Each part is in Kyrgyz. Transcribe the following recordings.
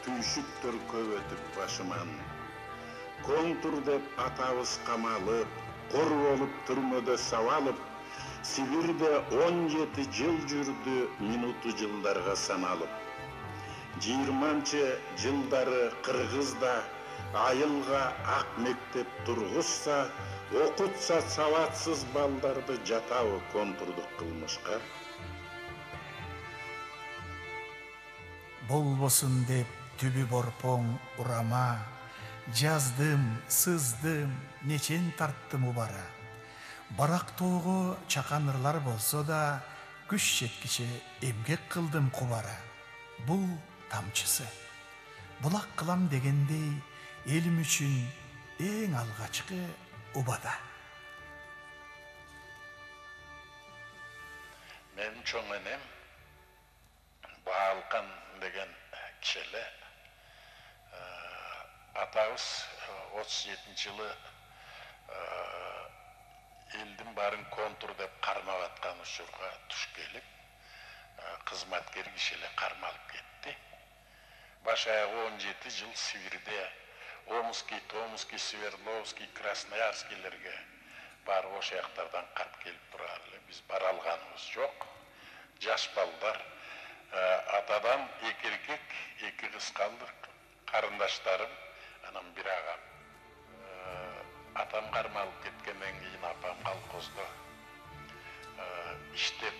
түйшүктөр көп өтүп башыман. Контур деп атабыз камалып, кор болуп түрмөдө сабалып, Сибирде 17 жыл жүрдү, минуту жылдарга саналып. 20-нчы жылдары Кыргызда айылга ак мектеп тургузса, окутса сабатсыз балдарды жатабы контурдук кылмышка. Болбосун деп түбү борпоң урама, жаздым, сыздым, нечен тарттым убара. Барактоого чаканырлар болсо да, күч жеткиче эмгек кылдым кубара. Бул тамчысы. Булак кылам дегендей, элим үчүн эң алгачкы убада. Менин чоң энем Баалкан деген киши эле. Атабыз 37-жылы элдин баарын контур деп кармап аткан учурга туш келип, кызматкер киши эле кармалып кетти. Баш аягы 17 жыл Сибирде Омский, Томский, Свердловский, Красноярскийлерге барып ошол жактардан кат келип турар эле. Биз бара алганыбыз жок. Жаш балдар, атадан 2 эркек, 2 кыз калдык, карындаштарым, анан бир агам. Атам кармалып кеткенден кийин апам колхоздо иштеп,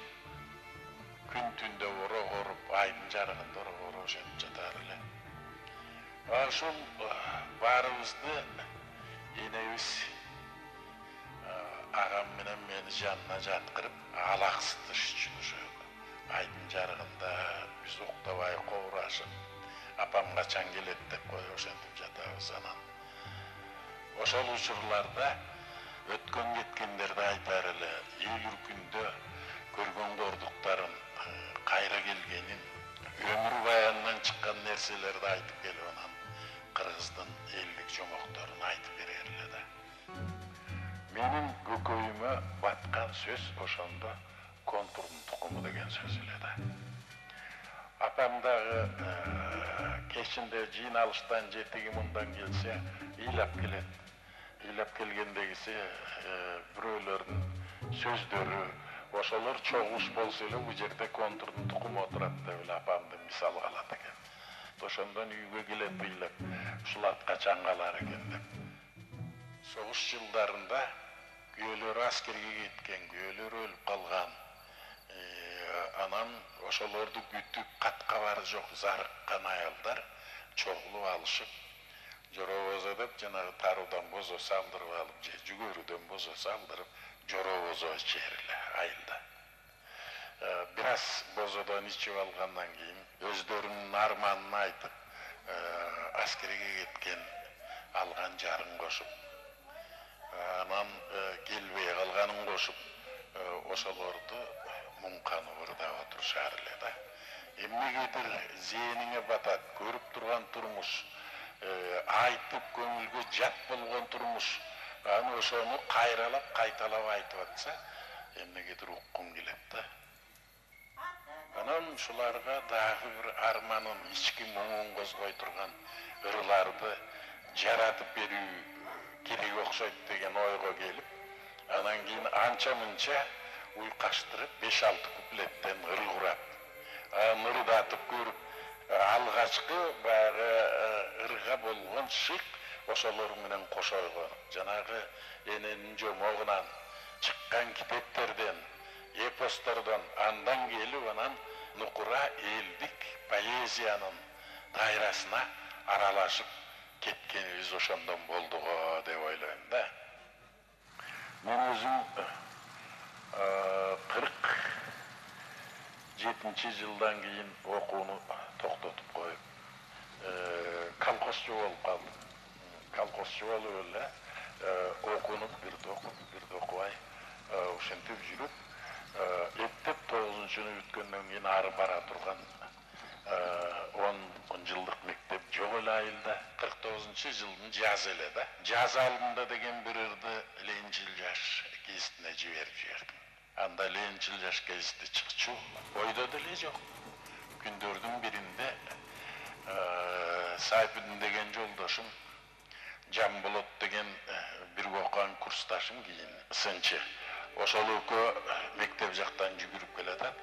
күн түндө ороп, айдын жарыгында ороп ошентип жатар эле. Ошол баарыбызды энебиз агам менен мени жанына жаткырып, алаксытыш үчүн ошо айдын жарыгында биз уктабай кобурашып, апам качан келет деп коюп ошентип жатабыз. Анан ошол учурларда өткөн кеткендерди айтар эле, ийгүр күндө көргөн кордуктарын, кайра келгенин, өмүр баянынан чыккан нерселерди айтып келип, анан Кыргыздын элдик жомокторун айтып берер эле да. Менин көкөйүмө баткан сөз ошондо контурдун тукуму деген сөз эле да. Апам дагы кечинде жыйналыштан жетиги мындан келсе, ыйлап келет. Ыйлап келгендегиси бирөөлөрдүн сөздөрү, ошолор чогулуш болсо эле бул жерде контурдун тукуму отурат деп эле апамды мисалга алат экен. Ошондон үйгө келет ыйлап, ушул ат качан калар экен деп. Согуш жылдарында күйөөлөрү аскерге кеткен, күйөөлөрү өлүп калган. Анан ошолорду күтүп, кат кабары жок зарыккан аялдар чогулуп алышып, жоробозо деп жанагы таруудан бозо салдырып алып, же жүгөрүдөн бозо салдырып, жоробозо ичер эле айылда. Бир аз бозодон ичип алгандан кийин өздөрүнүн арманын айтып, аскерге кеткен алган жарын кошуп, анан келбей калганын кошуп, ошолорду муңканып ырдап отурушар эле да. Эмнегедир зээниңе батат, көрүп турган турмуш, айтып көңүлгө жат болгон турмуш, аны ошону кайралап, кайталап айтып атса, эмнегедир уккуң келет да. Анан ушуларга дагы бир арманын, ички муңун козгой турган ырларды жаратып берүү керек окшойт деген ойго келип, анан кийин анча-мынча уйкаштырып 5-6 куплеттен ыр курап, ырдатып көрүп, алгачкы баягы ырга болгон шык ошолор менен кошойгон. Жанагы эненин жомогунан чыккан китептерден, эпостордон андан келип, анан нукура элдик поэзиянын дайрасына аралашып кеткенибиз ошондон болду го деп ойлойм да. Мен өзүм 47 жылдан кийин окууну токтотуп коюп, колхозчу болуп калдым. Колхозчу болуп эле окунуп, бирде окуп, бирде окубай, ошентип жүрүп, эптеп 9-чуну бүткөндөн кийин ары бара турган 10 жылдык мектеп жок эле айылда. 49-жылдын жазы эле да. Жаз алдында деген бир ырды Ленчил жаш гезитине жиберип жибердим. Анда Ленчил жаш гезити чыкчу ойдо деле жок. Күндөрдүн биринде Сайпидин деген жолдошум, Жамболот деген бирге окуган курсташым кийин сынчы. Ошол экөө мектеп жактан жүгүрүп келатат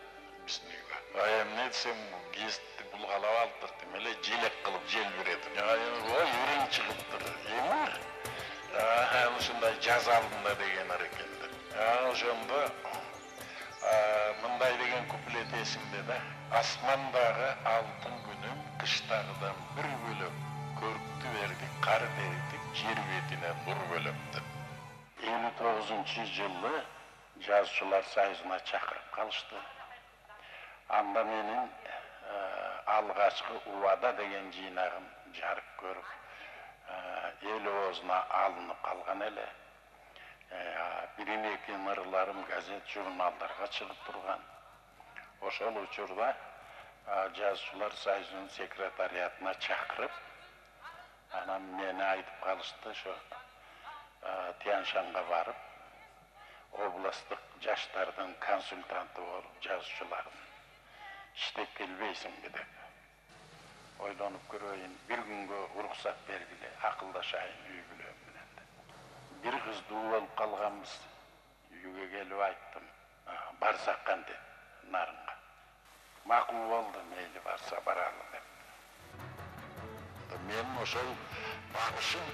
биздин үйгө. Эмне десем, гезитти булгалап алдык деп эле желек кылып желбиретип. Ой, үрүң чыгыптыр. Эми ушундай жаза алдым да деген эрекендер. Ошондо мындай деген куплет эсимде да. Асмандагы алтын күнүм кыштагыдан бир бөлөк, көрктү берди кар дертип жер бетине нур бөлөп деп. 59-жылы жазуучулар союзуна чакырып калышты. Анда менин алгачкы Убада деген жыйнагым жарык көрүп, эл оозуна алынып калган эле. Бирин-экин ырларым газет, журналдарга чыгып турган. Ошол учурда жазуучулар союзунун секретариатына чакырып, анан мени айтып калышты, ошо Тянь-Шанга барып, областтык жаштардын консультанты болуп, жазуучулардын иштеп келбейсиңби деп. Ойлонуп көрөйүн, бир күнгө уруксат бергиле, акылдашайын үй бүлөм менен деп. Бир кыздуу болуп калганбыз. Үйгө келип айттым, барсак кантет Нарынга. Макул болду, мейли барса баралы деп. Мен ошол багышым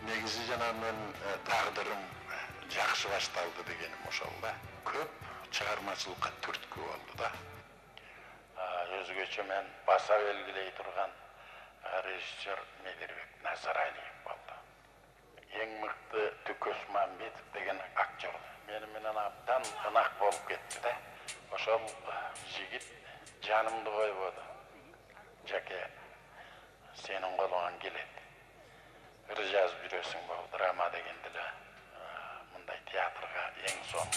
негизи жана мен тагдырым жакшы башталды дегеним ошол да. Көп чыгармачылыкка түрткү болду да. Өзгөчө мен баса белгилей турган режиссер Медербек Назаралиев болду. Эң мыкты Түкөс Мамбетов деген актер мени менен абдан ынак болуп кетти да. Ошол жигит жанымды койбоду. Жаке, сенин колуңан келет. Ыр жазып жүрөсүң болуп, драма дегенде эле мындай театрга эң сонун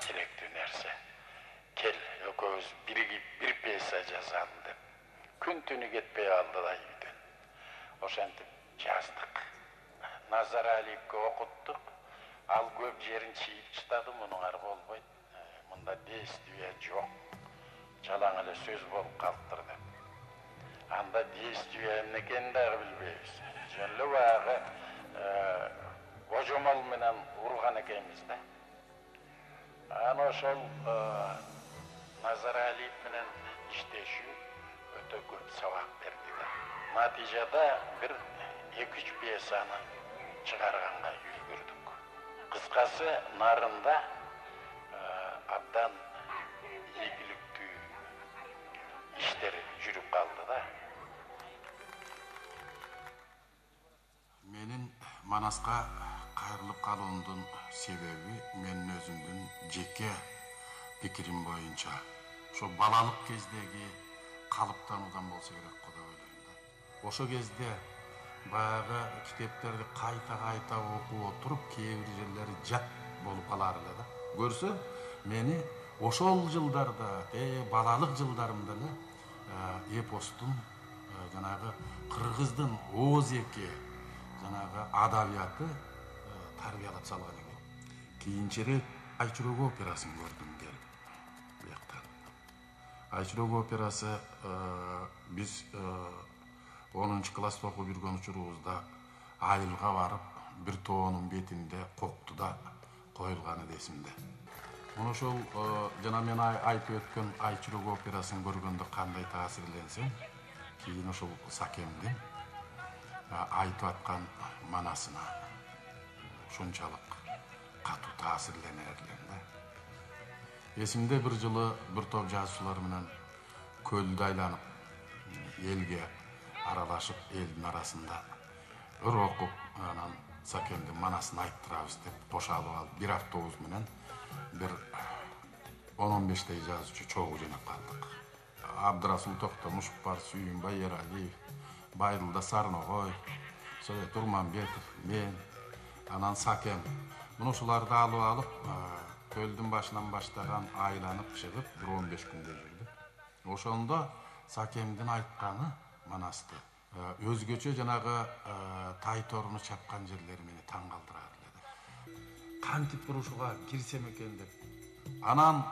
керектүү нерсе. Кел, экөөбүз биригип бир пьеса жазалы деп. Күн түнү кетпей калды да үйдөн. Ошентип жаздык. Назаралиевге окуттук. Ал көп жерин чийип чытады, мунун ары болбойт. Мында действие жок. Жалаң эле сөз болуп калыптыр деп. Анда действие эмне экенин дагы билбейбиз. Жөн эле баягы божомол менен урган экенбиз да. Аны ошол Назаралиев менен иштешүү өтө көп сабак берди да. Натыйжада бир 2-3 пьесаны чыгарганга үлгүрдүк. Кыскасы, Нарында абдан ийгиликтүү иштер жүрүп калды да. Менин Манаска кайрылып калуумдун себеби менин өзүмдүн жеке пикирим боюнча ошо балалык кездеги калыптануудан болсо керек го деп ойлойм да. Ошо кезде баягы китептерди кайта окуп отуруп, кээ бир жерлери жат болуп калар эле да. Көрсө, мени ошол жылдарда, балалык жылдарымда эле эпостун жанагы кыргыздын ооз-эки жанагы адабияты тарбиялап салган экен. Кийинчерээк Айчүрөк операсын көрдүм келип. Бияктан. Айчүрөк операсы биз 10-класста окуп жүргөн учурубузда айылга барып, бир тоонун бетинде коктуда коюлганы эсимде. Мына ошол жана мен айтып өткөн Айчүрөк операсын көргөндө кандай таасирленсем, кийин ошол Сакемдин айтып аткан манасына ушунчалык катуу таасирленер элем да. Эсимде бир жылы бир топ жазуучулар менен көлдү айланып, элге аралашып, элдин арасында ыр окуп, анан Сакемдин манасын айттырабыз деп кошалып алып, бир автобус менен бир 10-15 жазуучу чогуу жыйнап калдык. Абдрасул Токтомушев бар, Сүйүнбай Эралиев, Байрылда Сарногой, Совет Урманбетов, мен, анан Сакем. Муну ушуларды алып, көлдүн башынан баштаган айланып чыгып, бир 15 күндө жүрдүк. Ошондо Сакемдин айтканы манасты. Өзгөчө жанагы Тайторуну чапкан жерлери мени таң калтырар эле. Кантип бир ушуга кирсем экен деп. Анан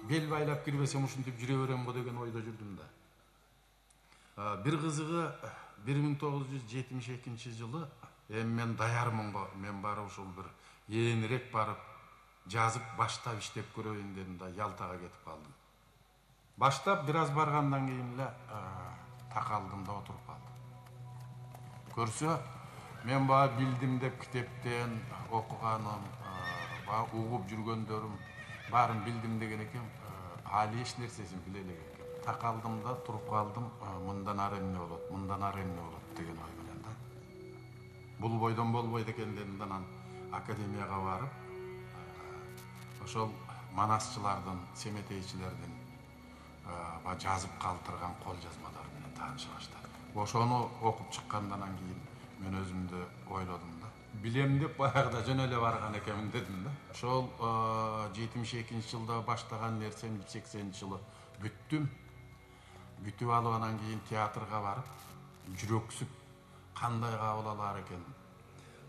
бел байлап кирбесем ушинтип жүрө берем го деген ойдо жүрдүм да. Бир кызыгы 1972 жылы эми мен даярмын го, мен барып ушул бир ээринирээк барып жазып баштап иштеп көрөйүн дедим да Ялтага кетип калдым. Баштап бир аз баргандан кийин эле такалдым да отуруп калдым. Көрсө, мен баа билдим деп китептен окуганым, баа угуп жүргөндөрүм баарын билдим деген экен, али эч нерсесин биле элек экен. Такалдым да туруп калдым, мындан ары эмне болот, мындан ары эмне болот деген ой менен да. Бул бойдон болбойт экен дедим да, анан академияга барып, ошол манасчылардын, семетейчилердин жазып калтырган кол жазмалары менен тааныша баштадым. Ошону окуп чыккандан кийин мен өзүмдү ойлодум да. Билем деп баягыда жөн эле барган экенмин дедим да. Ошол 72 жылда баштаган нерсем 80 жылы бүттүм. Бүтүп алып анан кийин театрга барып, жүрөксүп кандай кабыл алар экен.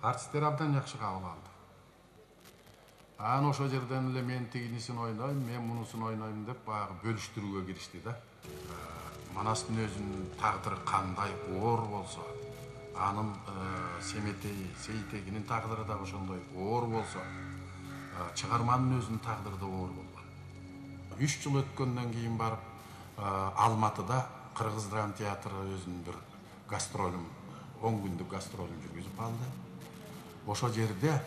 Артисттер абдан жакшы кабыл алды. Анан ошол жерден эле мен тигинисин ойнойм, мен мунусун ойнойм деп баягы бөлүштүрүүгө киришти да. Манастын өзүнүн тагдыры кандай оор болсо, анын Семетей, Сейтегинин тагдыры да ошондой оор болсо, чыгарманын өзүнүн тагдыры да оор болгон. 3 жыл өткөндөн кийин барып Алматыда Кыргыз драма театры өзүнүн бир гастролун, 10 күндүк гастролун жүргүзүп алды. Ошол жерде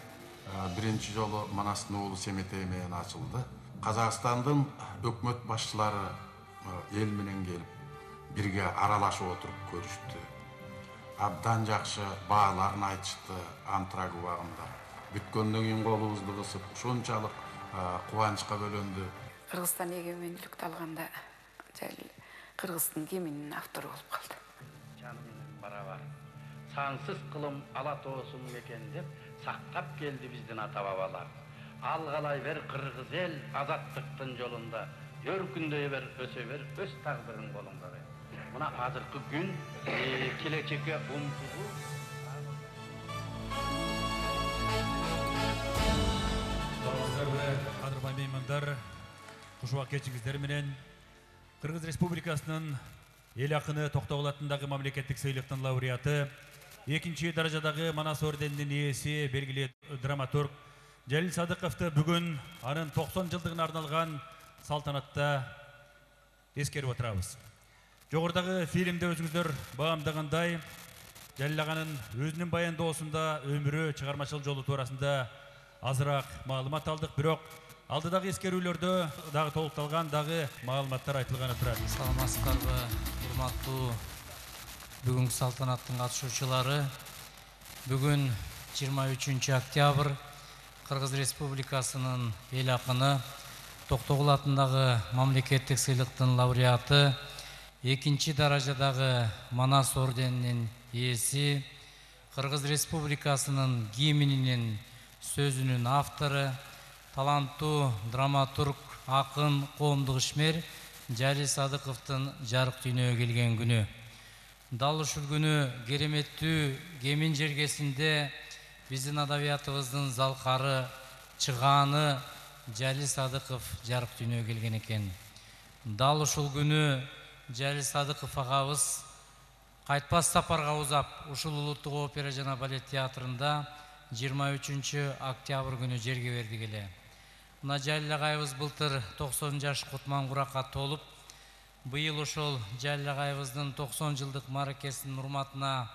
биринчи жолу Манастын уулу Семетей менен ачылды. Казакстандын өкмөт башчылары эл менен келип, бирге аралашып отуруп көрүштү. Абдан жакшы бааларын айтышты антраг убагында. Бүткөндөн кийин колубузду кысып, ушунчалык кубанычка бөлөндү. Кыргызстан эгемендүүлүктү алганда Кыргыздын гимнинин автору болуп калды. Жаны менен барабар. Сансыз кылым ала тоосун мекен деп сактап келди биздин ата бабалар. Алгалай бер кыргыз эл азаттыктын жолунда. Өркүндөй бер, өсө бер, өз тагдырың колуңда бер. Мына азыркы күн келечекке умтулуу. Кадырбай меймандар, кушубак кечиңиздер менен Кыргыз Республикасынын эл акыны Токтогул атындагы мамлекеттик сыйлыктын лауреаты, 2-чи даражадагы Манас орденинин ээси, белгилүү драматург Жалил Садыковду бүгүн анын 90 жылдыгына арналган салтанатта эскерип отурабыз. Жогорудагы фильмде өзүңүздөр баамдагандай, Жалил аганын өзүнүн баяндоосунда өмүрү, чыгармачылык жолу туурасында азыраак маалымат алдык, бирок алдыдагы эскерүүлөрдө дагы толукталган дагы маалыматтар айтылганы турат. Саламатсыздарбы, урматтуу бүгүнкү салтанаттын катышуучулары. Бүгүн 23 октябрь Кыргыз Республикасынын эл акыны, Токтогул атындагы мамлекеттик сыйлыктын лауреаты, 2-чи даражадагы Манас орденинин ээси, Кыргыз Республикасынын гимнинин сөзүнүн автору, таланттуу драматург, акын, коомдук ишмер Жалил Садыковдун жарык дүйнөгө келген күнү. Дал ушул күнү кереметтүү Кемин жергесинде биздин адабиятыбыздын залкары, чыгааны Жалил Садыков жарык дүйнөгө келген экен. Дал ушул күнү Жалил Садыков агабыз кайтпас сапарга узап, ушул улуттук опера жана балет театрында 23 октябрь күнү жерге бердик эле. Мына Жалил агайыбыз былтыр 90 жаш кутман куракка толуп, быйыл ошол Жалил агайыбыздын 90 жылдык мааракесинин урматына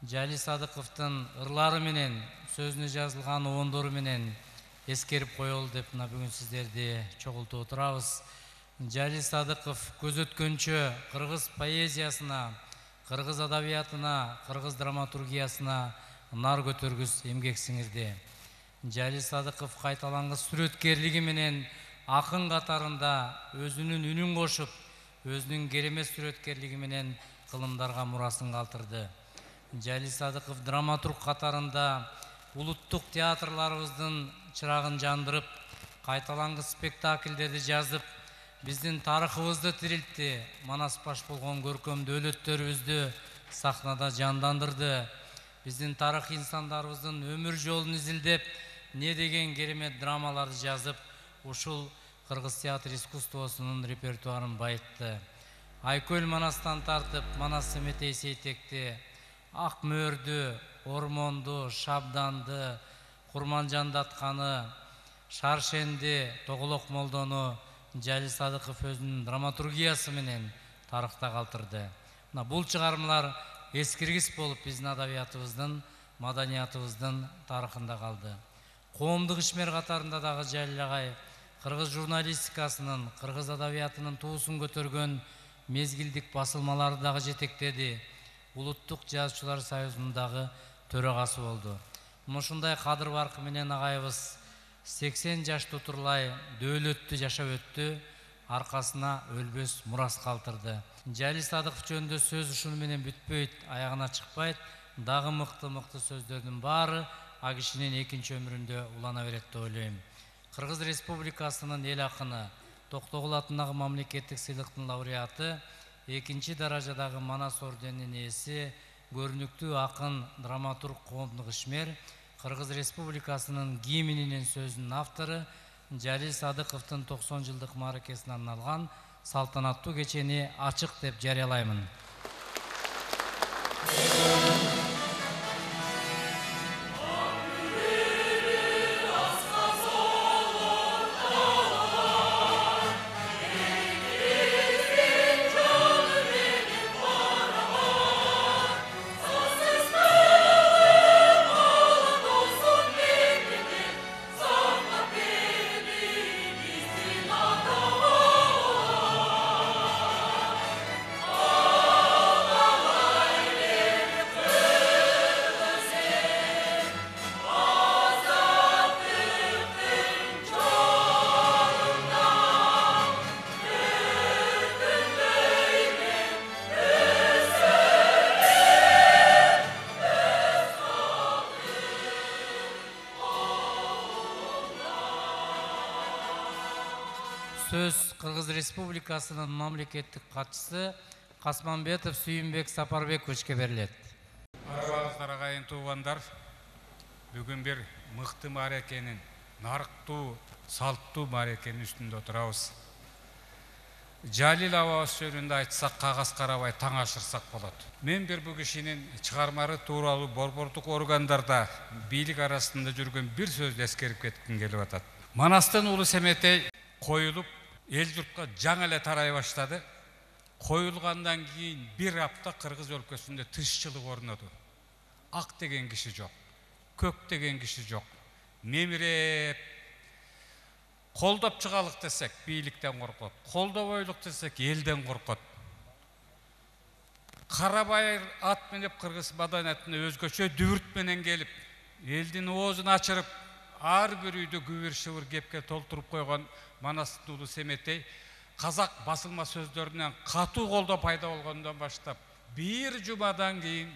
Жалил Садыковдун ырлары менен, сөзүнө жазылган оондору менен эскерип коелу деп мына бүгүн сиздерди чогултуп отурабыз. Жалил Садыков көз өткөнчө кыргыз поэзиясына, кыргыз адабиятына, кыргыз драматургиясына нар көтөргүс эмгек сиңирди. Жалил Садыков кайталангыс сүрөткерлиги менен акын катарында өзүнүн үнүн кошуп, өзүнүн керемет сүрөткерлиги менен кылымдарга мурасын калтырды. Жалил Садыков драматург катарында улуттук театрларыбыздын чырагын жандырып, кайталангыс спектакльдерди жазып, биздин тарыхыбызды тирилтти, Манас баш болгон көркөм дөөлөттөрүбүздү сахнада жандандырды. Биздин тарых инсандарыбыздын өмүр жолун изилдеп, не деген керемет драмаларды жазып, ушул Кыргыз театр искусствосунун репертуарын байытты. Айкөл Манастан тартып Манас Семетей Сейтекти, Ак Мөөрдү, Ормонду, Шабданды, Курманжандатканы, Шаршенди, Тоголок Молдону Жалил Садыков өзүнүн драматургиясы менен тарыхта калтырды. Бул чыгармалар эскиргис болуп биздин адабиятыбыздын, маданиятыбыздын тарыхында калды. Коомдук ишмер катарында дагы Жалил агай кыргыз журналистикасынын, кыргыз адабиятынын туусун көтөргөн мезгилдик басылмаларды дагы жетектеди. Улуттук жазуучулар союзунун дагы төрагасы болду. Ушундай кадыр баркы менен агайыбыз 80 жаш тутурлай дөөлөттүү жашап өттү, аркасына өлбөс мурас калтырды. Жалил Садыков жөнүндө сөз ушуну менен бүтпөйт, аягына чыкпайт. Дагы мыкты сөздөрдүн баары а кишинин экинчи өмүрүндө улана берет деп ойлойм. Кыргыз Республикасынын эл акыны, Токтогул атындагы мамлекеттик сыйлыктын лауреаты, экинчи даражадагы Манас орденинин ээси, көрүнүктүү акын, драматург, коомдук ишмер, Кыргыз Республикасынын гимнинин сөзүнүн автору Жалил Садыковдун 90 жылдык мааракесине арналган салтанаттуу кечени ачык деп жарыялаймын. Сөз Кыргыз Республикасынын мамлекеттик катчысы Касманбетов Сүйүнбек Сапарбековичке берилет. Арбаңыздар агайын туугандар, бүгүн бир мыкты мааракенин, нарыктуу, салттуу мааракенин үстүндө отурабыз. Жалил абабыз жөнүндө айтсак, кагаз карабай таң ашырсак болот. Мен бул кишинин чыгармалары тууралуу борбордук органдарда бийлик арасында жүргөн бир сөздү эскерип кетким келип атат. Манастын Улуу Семетей коюлуп, эл журтка жаңы эле тарай баштады. Коюлгандан кийин бир апта Кыргыз өлкөсүндө тынччылык орноду. Ак деген киши жок, көк деген киши жок. Мемиреп колдоп чыгалык десек, бийликтен коркот. Колдобойлук десек, элден коркот. Карабайыр ат менеп кыргыз маданиятына өзгөчө дүбүрт менен келип, элдин оозун ачырып, ар бир үйдө күбүр-шыбыр кепке толтуруп койгон Манастын Улуу Семетей казак басылма сөздөрүнөн катуу колдоо пайда болгондон баштап бир жумадан кийин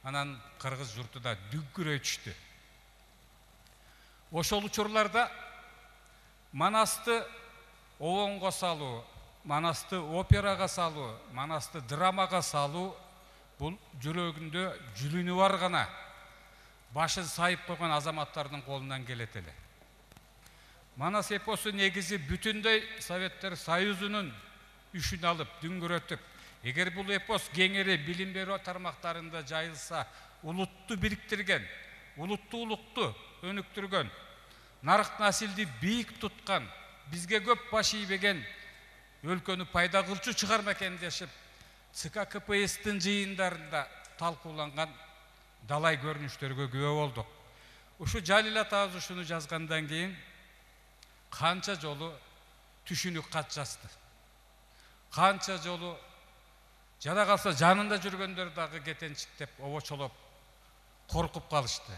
анан кыргыз журтуда дүңкүрөй түштү. Ошол учурларда Манасты обонго салуу, Манасты операга салуу, Манасты драмага салуу бул жүрөгүндө жүлүнү бар гана башын сайып койгон азаматтардын колунан келет эле. Манас эпосу негизи бүтүндөй Советтер Союзунун үшүн алып, дүңгүрөтүп, эгер бул эпос кеңири билим берүү тармактарында жайылса, улутту бириктирген, улуттуулукту өнүктүргөн, нарык насилди бийик туткан, бизге көп баш ийбеген өлкөнү пайда кылчу чыгарма экен дешип, ЦК КПССтин жыйындарында талкууланган далай көрүнүштөргө күбө болдук. Ушу Жалил атабыз ушуну жазгандан кийин канча жолу түшүнүк кат жазды. Канча жолу жада калса жанында жүргөндөр дагы кетенчиктеп, обочолоп, коркуп калышты.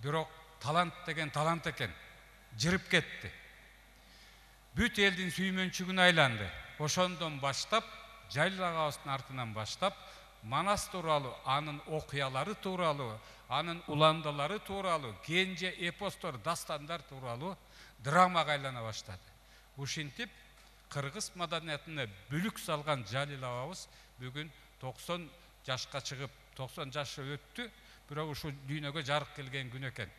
Бирок талант деген талант экен, жырып кетти. Бүт элдин сүймөнчүгүнө айланды. Ошондон баштап, Жалил агабыздын артынан баштап, Манас тууралуу, анын окуялары тууралуу, анын уландалары тууралуу, кенже эпостор, дастандар тууралуу драмага айлана баштады. Ушинтип, кыргыз маданиятына бүлүк салган Жалил абабыз бүгүн 90 жашка чыгып, 90 жашы өттү, бирок ушу дүйнөгө жарык келген күн экен.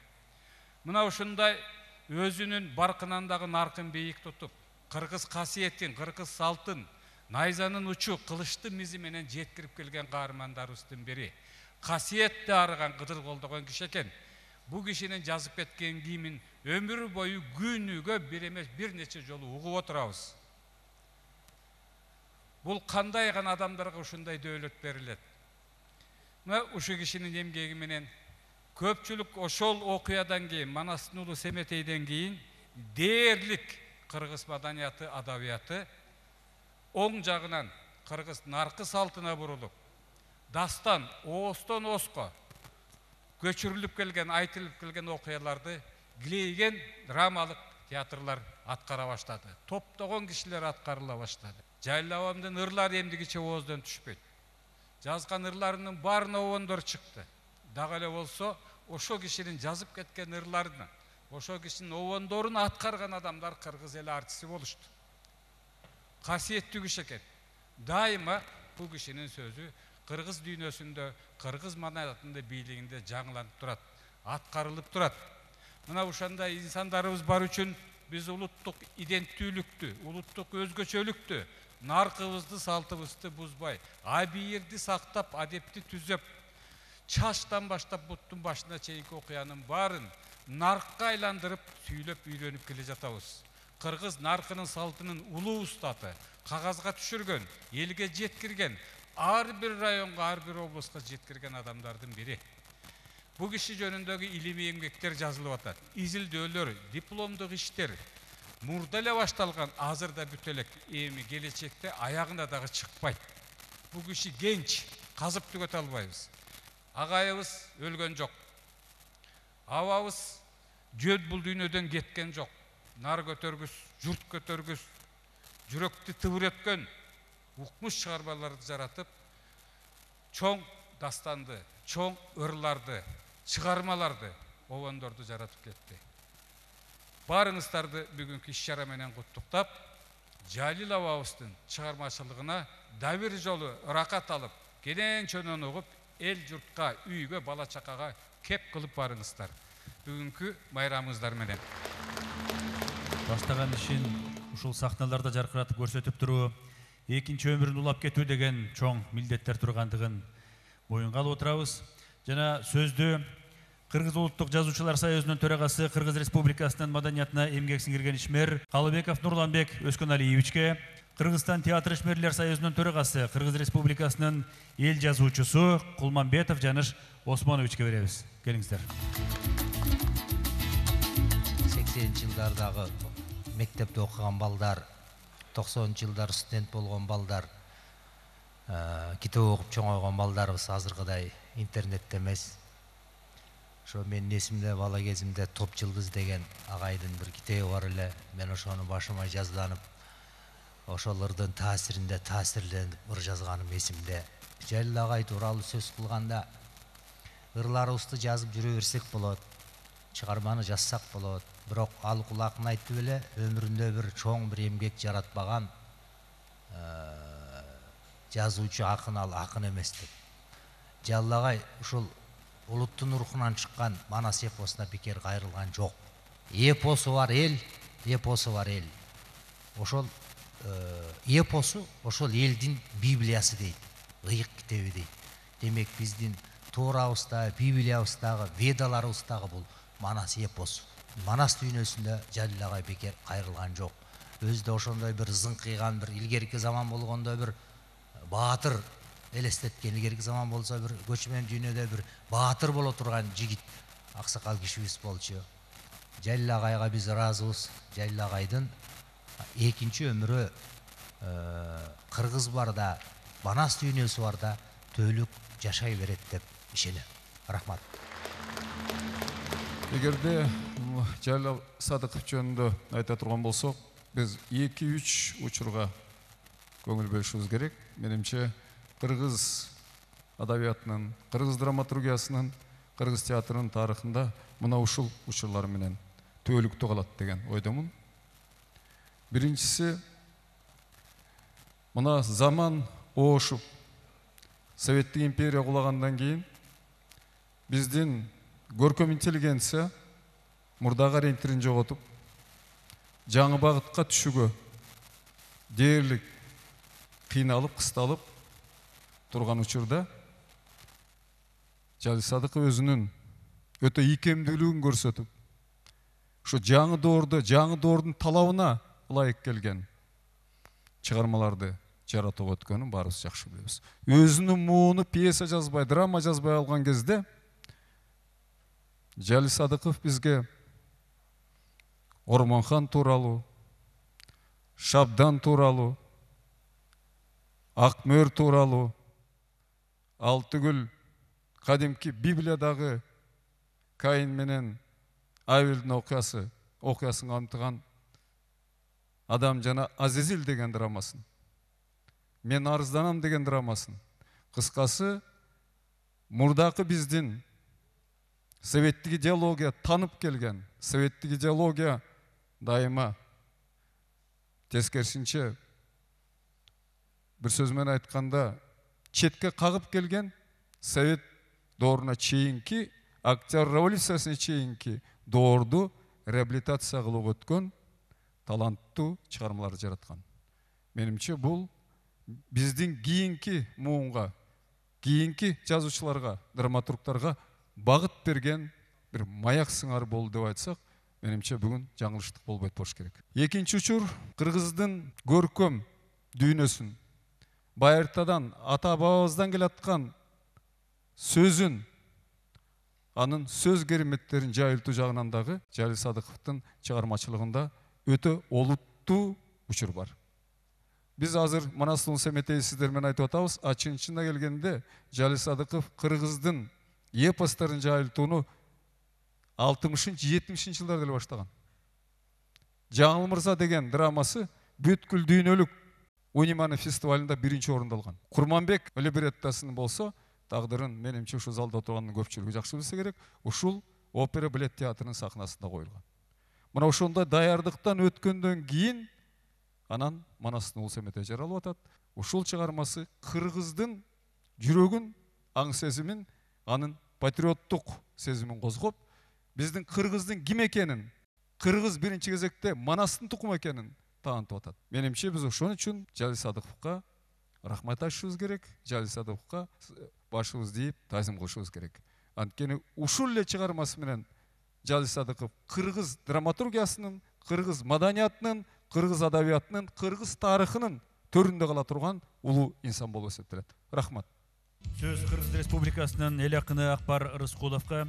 Мына ушундай өзүнүн баркынан дагы наркын бийик тутуп, кыргыз касиетин, кыргыз салтын, найзанын учу кылычты мизи менен жеткирип келген каармандарыбыздын бири. Касиетти арыган Кыдыр колдогон киши экен. Бу кишинин жазып кеткен кийимин өмүр бою күнүгө бир эмес бир нече жолу угуп отурабыз. Бул кандай гана адамдарга ушундай дөөлөт берилет. Мына ушу кишинин эмгеги менен көпчүлүк ошол окуядан кийин, Манастын уулу Семетейден кийин дээрлик кыргыз маданияты, адабияты оң жагынан кыргыз наркы салтына бурулуп, дастан оостон ооско көчүрүлүп келген, айтылып келген окуяларды килейген драмалык театрлар аткара баштады. Топтогон кишилер аткарыла баштады. Жайлабамдын ырлары эмдигиче ооздон түшпөйт. Жазган ырларынын баарына обондор чыкты. Дагы эле болсо, ошо кишинин жазып кеткен ырларынын, ошо кишинин обондорун аткарган адамдар кыргыз эл артисти болушту. Касиеттүү киши экен. Дайыма бул кишинин сөзү кыргыз дүйнөсүндө, кыргыз маданиятында, бийлигинде жаңыланып турат, аткарылып турат. Мына ушандай инсандарыбыз бар үчүн биз улуттук иденттүүлүктү, улуттук өзгөчөлүктү, наркыбызды, салтыбызды бузбай, абийирди сактап, адепти түзөп, чачтан баштап буттун башына чейинки окуянын баарын наркка айландырып, сүйлөп үйрөнүп келе жатабыз. Кыргыз наркынын салтынын улуу устаты, кагазга түшүргөн, элге жеткирген, ар бир районго, ар бир облуска жеткирген адамдардын бири. Бу киши жөнүндөгү илимий эмгектер жазылып атат. Изилдөөлөр, дипломдук иштер мурда эле башталган, азыр да бүтө элек, эми келечекте аягына дагы чыкпайт. Бу киши генч, казып түгөтө албайбыз. Агайыбыз өлгөн жок. Абабыз жөт бул дүйнөдөн кеткен жок. Нар көтөргүс, журт көтөргүс, жүрөктү тыбырөткөн укмуш чыгармаларды жаратып, чоң дастанды, чоң ырларды, чыгармаларды, обондорду жаратып кетти. Баарыңыздарды бүгүнкү иш-чара менен куттуктап, Жалил абабыздын чыгармачылыгына да бир жолу ыракат алып, кенен чөнөн угуп, эл журтка, үйгө, бала чакага кеп кылып барыңыздар. Бүгүнкү майрамыңыздар менен. Баштаган ишин ушул сахналарда жаркыратып көрсөтүп туруу, экинчи өмүрүн улап кетүү деген чоң милдеттер тургандыгын моюнга алып отурабыз. Жана сөздү Кыргыз улуттук жазуучулар союзунун төрагасы, Кыргыз Республикасынын маданиятына эмгек сиңирген ишмер Калыбеков Нурланбек Өскөналиевичке, Кыргызстан театр ишмерлер союзунун төрагасы, Кыргыз Республикасынын эл жазуучусу Кулманбетов Жаныш Осмоновичке беребиз. Келиңиздер. 80-жылдардагы мектепте окуган балдар, 90-жылдар студент болгон балдар, китеп окуп чоңойгон балдарыбыз азыркыдай интернетте эмес. Ошо менин эсимде бала кезимде Топ жылдыз деген агайдын бир китеби бар эле. Мен ошону башыма жазданып, ошолордун таасиринде таасирленип ыр жазганым эсимде. Жалил агай тууралуу сөз кылганда, ырларыбызды жазып жүрө берсек болот, чыгарманы жазсак болот. Бирок ал кулакын айтып эле өмүрүндө бир чоң бир эмгек жаратпаган жазуучу акын ал акын эмес деп. Жалил агай ушул улуттун рухунан чыккан Манас эпосуна бекер кайрылган жок. Эпосу бар эл, эпосу бар эл. Ошол эпосу ошол элдин библиясы дейт, ыйык китеби дейт. Демек биздин Тоорабызда, Библиябыздагы, Ведаларыбыздагы бул Манас эпосу. Манас дүйнөсүндө Жалил агай бекер кайрылган жок. Өзү да ошондой бир зыңкыйган, бир илгерки заман болгондо бир баатыр элестеткен, илгерки заман болсо бир көчмөн дүйнөдө бир баатыр боло турган жигит, аксакал кишибиз болчу. Жалил агайга биз ыраазыбыз. Жалил агайдын экинчи өмүрү кыргыз барда, Манас дүйнөсү барда төөлүк жашай берет деп ишенем. Рахмат. Эгерде Жалил Садыков жөнүндө айта турган болсок, биз 2-3 учурга көңүл бөлүшүбүз керек. Менимче кыргыз адабиятынын, кыргыз драматургиясынын, кыргыз театрынын тарыхында мына ушул учурлар менен төөлүктүү калат деген ойдомун. Биринчиси, мына заман оошуп, Советтик империя кулагандан кийин биздин көркөм интеллигенция мурдагы ориентирин жоготуп, жаңы багытка түшүүгө дээрлик кыйналып, кысталып турган учурда Жалил Садыков өзүнүн өтө ийкемдүүлүгүн көрсөтүп, ушу жаңы доордун талабына ылайык келген чыгармаларды жаратып өткөнүн баарыбыз жакшы билебиз. Өзүнүн мууну пьеса жазбай, драма жазбай алган кезде Жалил Садыков бизге Ормонхан тууралуу, Шабдан тууралуу, Акмөр тууралуу, ал түгүл кадимки Библиядагы Каин менен Авелдин окуясын камтыган Адам жана Азизил деген драмасын, Мен арызданам деген драмасын, кыскасы мурдакы биздин советтик идеология танып келген, советтик идеология дайыма тескерисинче бир сөз менен айтканда четке кагып келген совет дооруна чейинки, Октябрь революциясына чейинки доорду реабилитация кылып өткөн таланттуу чыгармаларды жараткан. Менимче бул биздин кийинки муунга, кийинки жазуучуларга, драматургтарга багыт берген бир маяк сыңары болду деп айтсак, менимче бүгүн жаңылыштык болбойт болуш керек. Экинчи учур кыргыздын көркөм дүйнөсүн, байыртадан ата бабабыздан келаткан сөзүн, анын сөз кереметтерин жайылтуу жагынан дагы Жалил Садыковдун чыгармачылыгында өтө олуттуу учур бар. Биз азыр Манастын Семетей сиздер менен айтып атабыз, чынында келгенде Жалил Садыков кыргыздын эпосторун жайылтууну 60-70 жылдарда эле баштаган. Жаңыл Мырза деген драмасы бүткүл дүйнөлүк Униманы фестивалында биринчи орунду алган. Курманбек либреттосун болсо, тагдырын менимче ушу залда отургандын көпчүлүгү жакшы билсе керек, ушул опера балет театрынын сахнасында коюлган. Мына ошондой даярдыктан өткөндөн кийин анан Манастын Улуу Семетей жаралып атат. Ушул чыгармасы кыргыздын жүрөгүн, аң сезимин, анын патриоттук сезимин козгоп, биздин кыргыздын ким экенин, кыргыз биринчи кезекте Манастын тукуму экенин таанытып атат. Менимче биз ошон үчүн Жалил Садыковго рахмат айтышыбыз керек, Жалил Садыковго башыбызды ийип таазим кылышыбыз керек. Анткени ушул эле чыгармасы менен Жалил Садыков кыргыз драматургиясынын, кыргыз маданиятынын, кыргыз адабиятынын, кыргыз тарыхынын төрүндө кала турган улуу инсан болуп эсептелет. Рахмат. Сөз Кыргыз Республикасынын эл акыны Акбар Рыскуловго,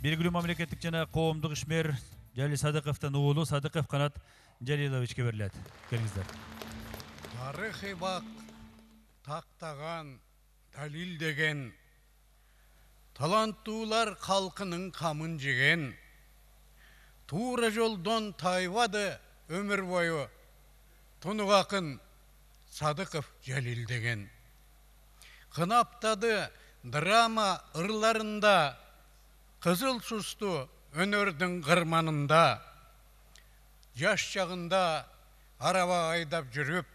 белгилүү мамлекеттик жана коомдук ишмер Жалил Садыковдун уулу Садыков Канат Жалиловичке берилет. Келиңиздер. Тарыхый бак тактаган, далилдеген, таланттуулар калкынын камын жеген, туура жолдон тайбады өмүр бою тунук акын Садыков Жалил деген. Кынаптады драма ырларында, кызыл сусту өнөрдүн кырманында, жаш чагында араба айдап жүрүп,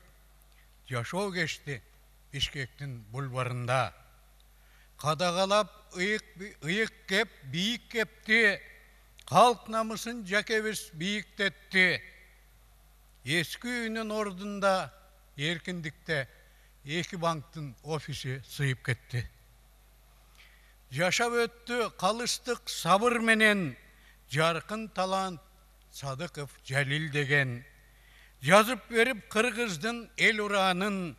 жашоо кечти Бишкектин бульварында. Кадагалап ыйык кеп, бийик кепти, калк намысын жакебиз бийиктетти. Эски үйүнүн ордунда эркиндикте эки банктын офиси сыйып кетти. Жашап өттү калыстык сабыр менен жаркын талант Садыков Жалил деген. Жазып берип кыргыздын эл ураанын,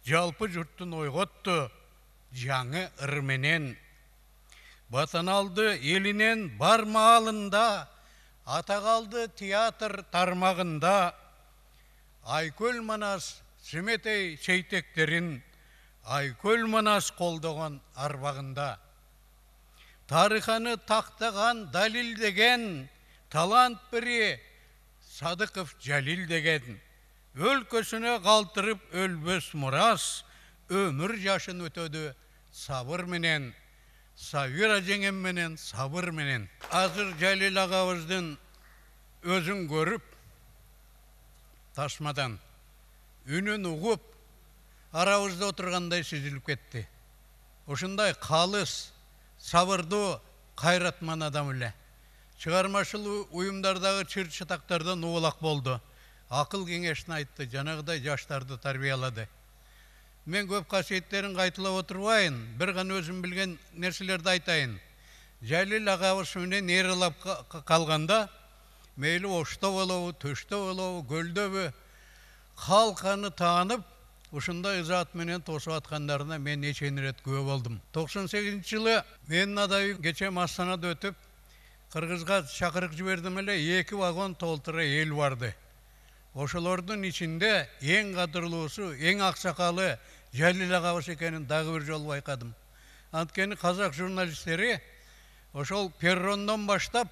жалпы журттун ойготту жаңы ыр менен. Батан алды элинен бар маалында, ата калды театр тармагында. Айкөл Манас Семетей сейтектерин, Айкөл Манас колдогон арбагында. Тарыханы тактаган, далилдеген, талант бири Садыков Жалил деген. Өлкөсүнө калтырып өлбөс мурас, өмүр жашын өтөдү сабыр менен, Сабира жеңем менен, сабыр менен. Азыр Жалил агабыздын өзүн көрүп, тасмадан үнүн угуп, арабызда отургандай сезилип кетти. Ошундай калыс, сабырдуу, кайратман адам эле. Чыгармачыл уюмдардагы чыр чатактардан убалак болду. Акыл кеңешин айтты, жанагыдай жаштарды тарбиялады. мен көп касиеттерин кайталап отурбайын, бир гана өзүм билген нерселерди айтайын. Жалил агабыз менен ээралап калганда, мейли Ошто болобу, Төштө болобу, Көлдөбү, калканы таанып, ушундай ызаат менен тосуп аткандарына мен нече ирет күбө болдум. 98-жылы менин адайым кече Астанада өтүп, Кыргызга чакырык жибердим эле, 2 вагон толтура эл барды. Ошолордун ичинде эң кадырлуусу, эң аксакалы Жалил агабыз экенин дагы бир жолу байкадым. Анткени казак журналисттери ошол перрондон баштап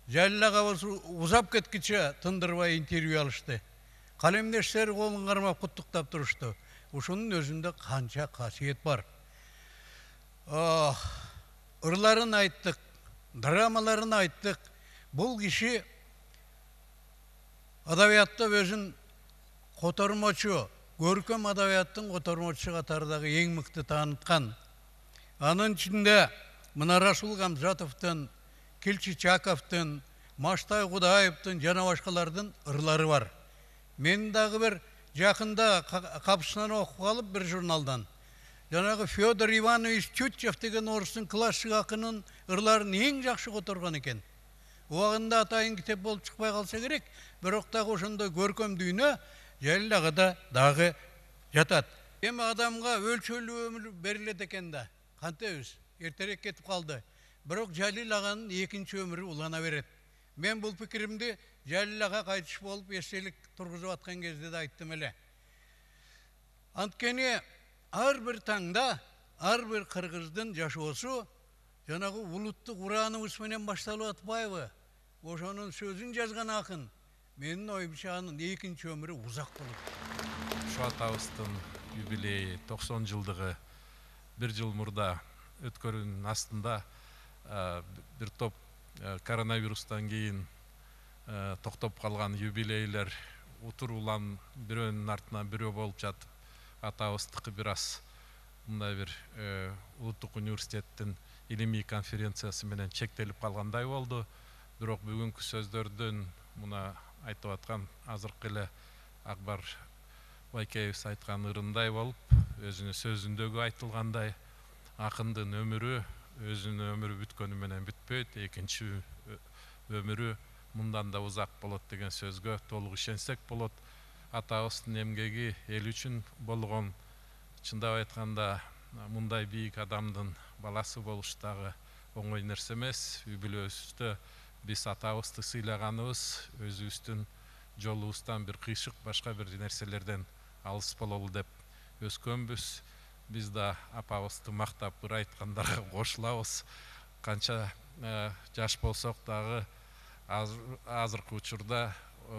Жалил агабыз узап кеткиче тындырбай интервью алышты. Калемдештери колун кармап куттуктап турушту. Ушунун өзүндө канча касиет бар. Ырларын айттык, драмаларын айттык. Бул киши адабиятта өзүн котормочу, көркөм адабияттын котормочусу катардагы эң мыкты тааныткан. Анын ичинде мына Расул Гамзатовдун, Килчи Чаковдун, Маштай Кудаевдин жана башкалардын ырлары бар. Мен дагы бир жакында капысынан окуп калып бир журналдан жанагы Федор Иванович Тютчев деген орустун классик акынын ырларын эң жакшы которгон экен. Убагында атайын китеп болуп чыкпай калса керек, бирок дагы ошондой көркөм дүйнө Жалил агада дагы жатат. Эми адамга өлчөлүү өмүр берилет экен да. Кантебиз? Эртерээк кетип калды. Бирок Жалил аганын экинчи өмүрү улана берет. Мен бул пикиримди Жалил ага кайтыш болуп эстелик тургузуп аткан кезде да айттым эле. Анткени ар бир таңда ар бир кыргыздын жашоосу жанагы улуттук урааныбыз менен башталып атпайбы? Ошонун сөзүн жазган акын. Менин оюмча анын экинчи өмүрү узак болот. Ушу атабыздын юбилейи 90 жылдыгы бир жыл мурда өткөрүүнүн астында бир топ коронавирустан кийин токтоп калган юбилейлер утуруулан бирөөнүн артынан бирөө болуп жатып, атабыздыкы бир аз мындай бир улуттук университеттин илимий конференциясы менен чектелип калгандай болду. Бирок бүгүнкү сөздөрдөн мына айтып аткан азыркы эле Акбар Байкеевич айткан ырындай болуп, өзүнүн сөзүндөгү айтылгандай, акындын өмүрү өзүнүн өмүрү бүткөнү менен бүтпөйт, экинчи өмүрү мындан да узак болот деген сөзгө толук ишенсек болот. Атабыздын эмгеги эл үчүн болгон, чындап айтканда мындай бийик адамдын баласы болуш дагы оңой нерсе эмес. Үй-бүлөбүздө биз атабызды сыйлаганыбыз өзүбүздүн жолубуздан бир кыйшык башка бир нерселерден алыс бололу деп өскөнбүз. Биз да апабызды мактап ыр айткандарга кошулабыз. Канча жаш болсок дагы азыркы учурда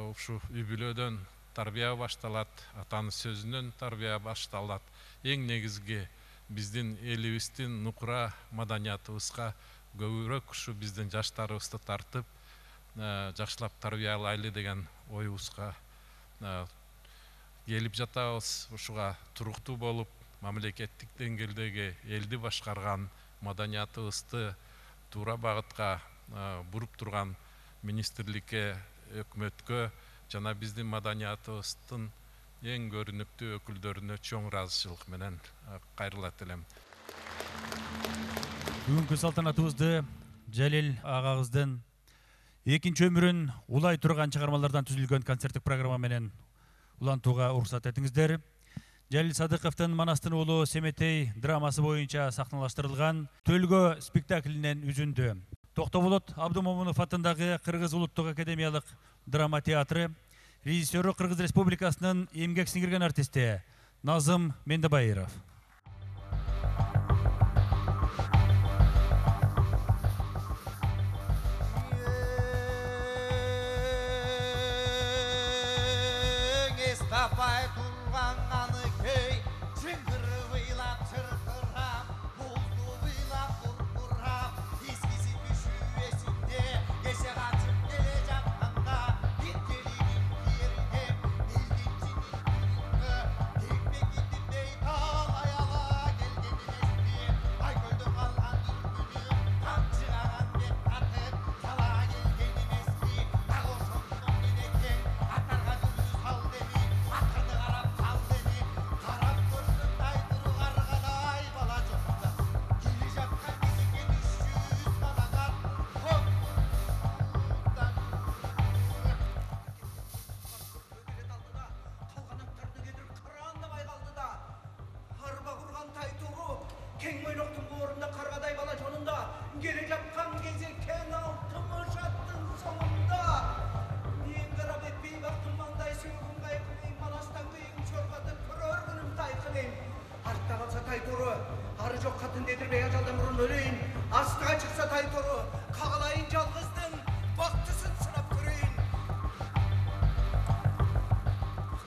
ушу үй-бүлөдөн тарбия башталат, атанын сөзүнөн тарбия башталат. Эң негизги биздин элибиздин нукура маданиятыбызга көбүрөөк ушу биздин жаштарыбызды тартып, жакшылап тарбиялайлы деген оюбузга келип жатабыз. Ушуга туруктуу болуп, мамлекеттик деңгээлдеги элди башкарган, маданиятыбызды туура багытка буруп турган министрликке, өкмөткө жана биздин маданиятыбыздын эң көрүнүктүү өкүлдөрүнө чоң ыраазычылык менен кайрылат элем. Бүгүнкү салтанатыбызды Жалил агабыздын экинчи өмүрүн улай турган чыгармалардан түзүлгөн концерттик программа менен улантууга уруксат этиңиздер. Жалил Садыковдун Манастын уулу Семетей драмасы боюнча сахналаштырылган Төлгө спектаклинен үзүндү. Токтоболот Абдумомунов атындагы Кыргыз улуттук академиялык драма театры режиссеру Кыргыз Республикасынын эмгек сиңирген артисти Назым Мендебайыров. Алай дедирбей ажалдан мурун өлөйүн. Астыга чыкса тайтору, кагалайын жалгыздын бактысын сынап көрөйүн.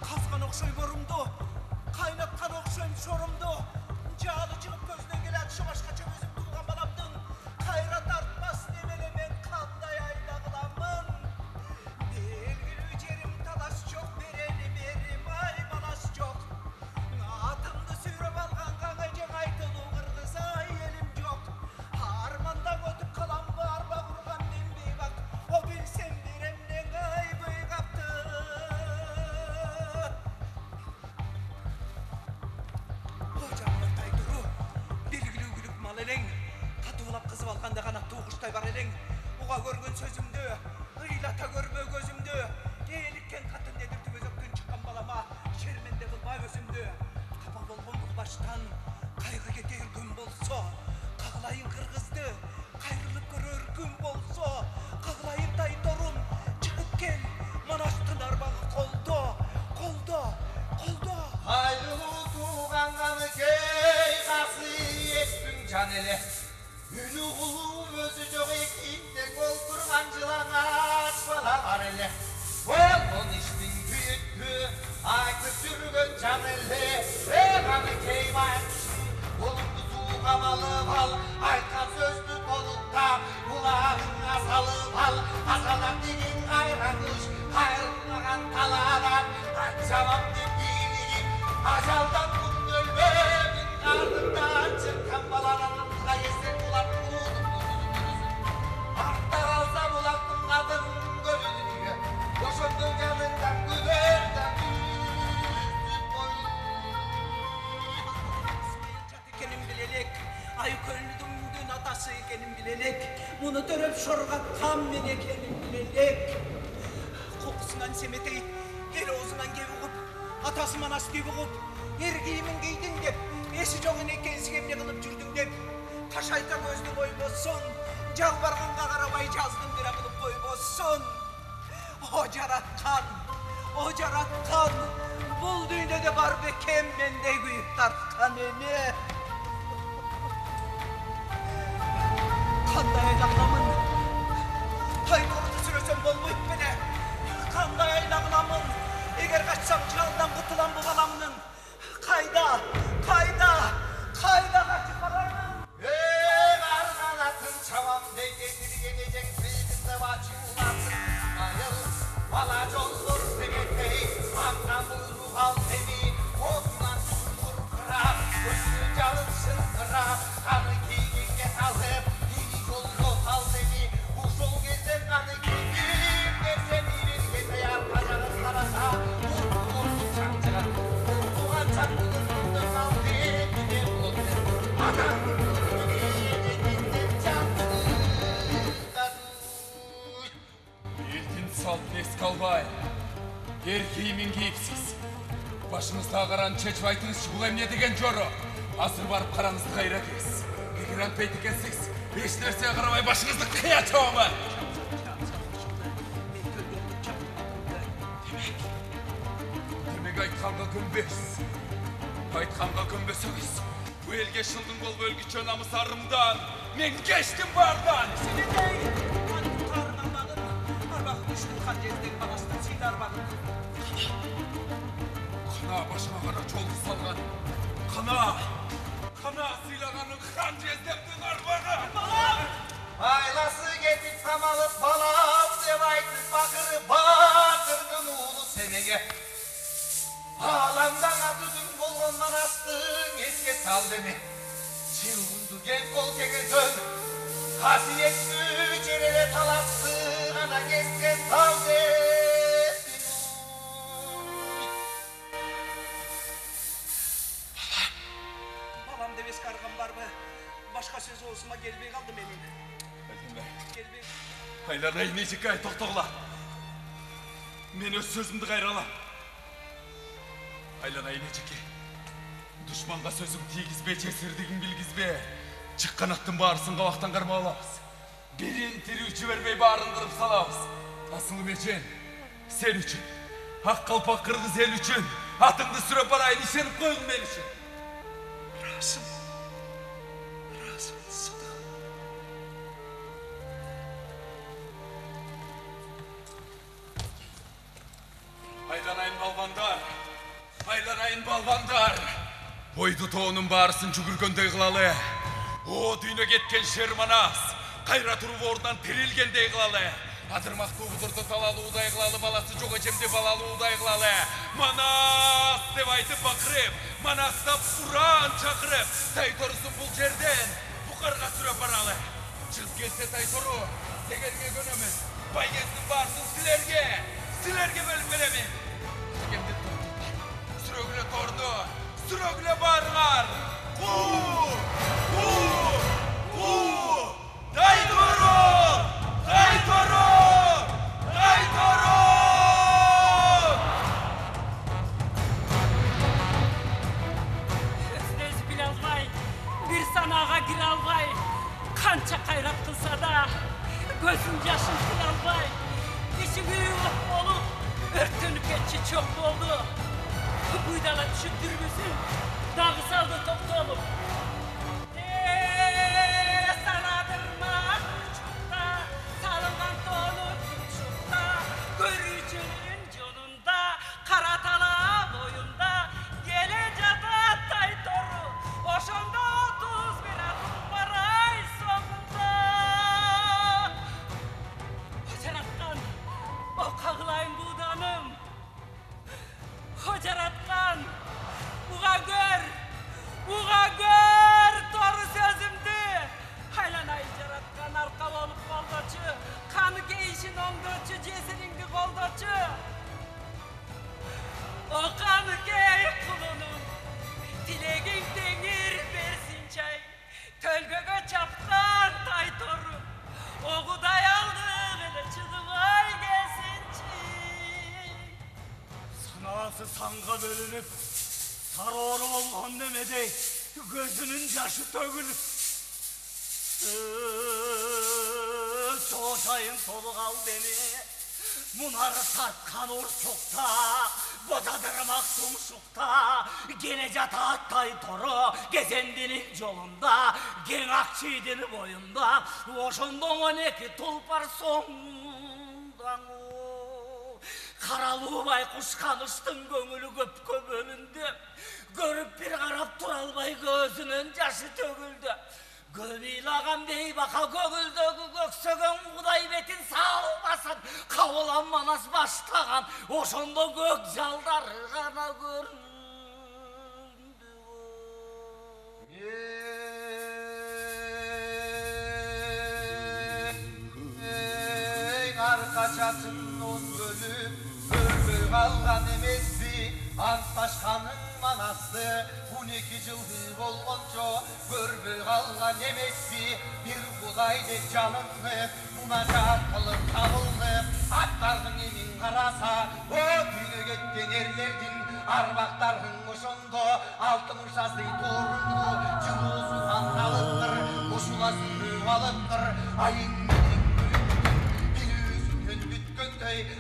Казган окшой борумду, кайнаткан окшойм шорумду, жаалы чыгып көзүнөн келе атышы башкача өзүм тууган баламдын кайра тартпас немеле мен кандай айла кыламын. Белгилүү жерим талаш жок, берени берим ай балаш жок. Атымды сүйрөп алган каңайжаң айтылуу кыргыз ай элим жок. Армандан өтүп каламбы арба курган мен бейбак, о билсем беремнен ай быйгапты. Ожамын тайдыру, белгилүү күлүп мал элең, катуулап кызып алганда канаттуу куштай бар элең. Уга көргөн сөзүмдү, ыйлата көрбө көзүмдү, ээликкен катын дедир түбөзөктөн чыккан балама шерменде кылба өзүмдү. Капа болгон бул баштан кайгы кетер күн болсо, кагылайын кыргызды кайрылып көрөр күн болсо, кагылайын тайторум чыгып кел Манастын арбагы колдо, колдо, колдо. Айрылуу тууган каныкей касыйеттің жан эле. Үнү кулуу өзү жок экииттен олтурган жылаңач бала бар эле. Болгон иштин күйүттү айтып жүргөн жан эле. Каныкей байкушум колуңду сууга малып ал, айткан сөздү толукта кулагыңа салып ал. Азалап деген кайрагыш кайрылмаган таладан айтсамам деп бийлигин ажалдан күн өлбөмүн артымдан чыккан баланын артыга келсең булат артта калса булаттын кадыр көлүнүгө ошондо жаныңдан күдөрдан Экенин билелек, Айкөлдүмдүн атасы экенин билелек, муну төрөп шоргаткан мен экенин билелек. Кокусунан семетей, эл оозунан кеп угуп, атасы Манасты угуп, эр кийимин кийдиң деп, эси жок энекейсиң эмне кылып жүрдүң деп, кашайта көздү койбосун, жалбарганга карабай жаздым бира кылып койбосун. О жараткан, бул дүйнөдө бар бекен мендей күйүп тарткан эне. Кандай айлагыламын, тайторду сүрөсөм болбойт беле. Кандай айлагыламын, эгер качсам жалдан кутулам бу баламдын. Кайда качып барармын? Арганатын чабам дейдетирген эжең сыйгызып ачууласын. Айыл бала жолдор семетей, амдан буйрук ал сени, отунан чуңкур кырап, көзү жалын шылтырап, каны кийгенге салып, ии жолго сал сени, ушул кезде каны кийгим нерсе бириргендей арка жагын караса, оту чаңчыгат, туган чаңчыгын сал бетине болот. Адам элдин салтын эске албай, эр кийимин кийипсиз. Башыңызда каран чечип айтыңызчы, бул эмне деген жоро? Азыр барып караңызды кайра кез. Эгер антпайт экенсиз, эч нерсеге карабай башыңызды кыя чабамын. Демек айтканга көнбөйсүз. Айтканга көнбөсөңүз, бу элге шылдың болуп өлгүчө намыс арымдан мен кечтим бардан. Арбагы күчтүн хан жердеги Манастын сыйды арбагы. Кана башыма кара чолду салган. Кана сыйлаганын хан жездептин арбагы. Айласы кетип самалып балам деп айтып бакырып батырдын уулу сенеге. Аламдан атудун болгон Манастың эске сал деме. Чылгынды кең кол кеңесön, касиеттүү жер эле талапты гана эске сал деппин. Балам деп эске арган барбы? Башка сөз оозума келбей калды менин. Келбей. Айланай нежикай токтогула. Мен өз сөзүмдү кайралам. Айланай нежикай. Душманга сөзүң тийгизбе, жесирдигиң билгизбе. Чыккан аттын баарысын кабактан кармап алабыз. Бирин тирүү жибербей баарын кырып салабыз. Асылым эжен, сен үчүн, ак калпак кыргыз эл үчүн атыңды сүрөп барайын, ишенип койгун мен үчүн. ойду тоонун баарысын жүгүргөндөй кылалы. О дүйнө кеткен шер Манас, кайра туруп ордунан тирилгендей кылалы. Адырмактуу кудурду талалуудай кылалы, баласы жок эчемди балалуудай кылалы. Манас деп айтып бакырып, Манастап уран чакырып, Тайторусун бул жерден букарга сүрөп баралы. Чыгып келсе Тайтору, дегенге көнөмүн. Байгездин баарысын силерге бөлүп беремин. Дегенди сүрөгүлө торду, сүрөгүлө барыңар. Тайтору! Тайтору! Тайтору! Өзүн биле албай, бир санаага кире албай, канча кайрат кылса да, көзүн жашын тыя албай, ичи күйүп болуп, өрттөнүп кетчи чок болду. Буйдала түшүп дүрбүсүн, дагы салды токтолуп. Санадырма чукта, салынган тоонун чукта, көрүүчүнүн жолунда, кара тала боюнда, келе жатат Тайтору, ошондо 31 адым бар ай соңунда. Жараткан, о кагылайын бууданым, о жараткан, уга көр тору сөзүмдү. Айланайын жараткан, арка болуп колдочу, каны кейишин оңдочу, жесириңди колдочу. О каны кей кулунум, тилегиң теңир берсин чай, төлгөгө чапкан Тайтору, огудай алдык эле чыдыбай келсинчи. Санаасы санга бөлүнүп, сароору болгон немедей көзүнүн жашы төгүлүп, чоочайын толук ал дене, мунары тарткан урчукта, божадырмак тумшукта, келе жатат Тайтору, кезендинин жолунда, кең ак чийдин боюнда, ошондо 12 тулпар соңуңдан. Каралуу байкуш каныштын көңүлү көпкө бөлүндү, көрүп бир карап тура албай көзүнүн жашы төгүлдү. Көп ыйлаган бейбака көңүлдөгү көксөгөн Кудай бетин салбасын, кабылан Манас баштаган, ошондо көк жалдары гана көрүндү. Арка чачынын бөлүп, көрбөй калган эмеси, антташканын Манасты 12 жылды болгончо көрбөй калган эмеси, бир Кудай деп жаныңды мунажат кылып табылды. Аттардын эмин караса, о дүйнө кеткен эрлердин арбактарын ошондо алтын ушасый турунду, жылуусунан алыптыр, ушуласын алыптыр. Айың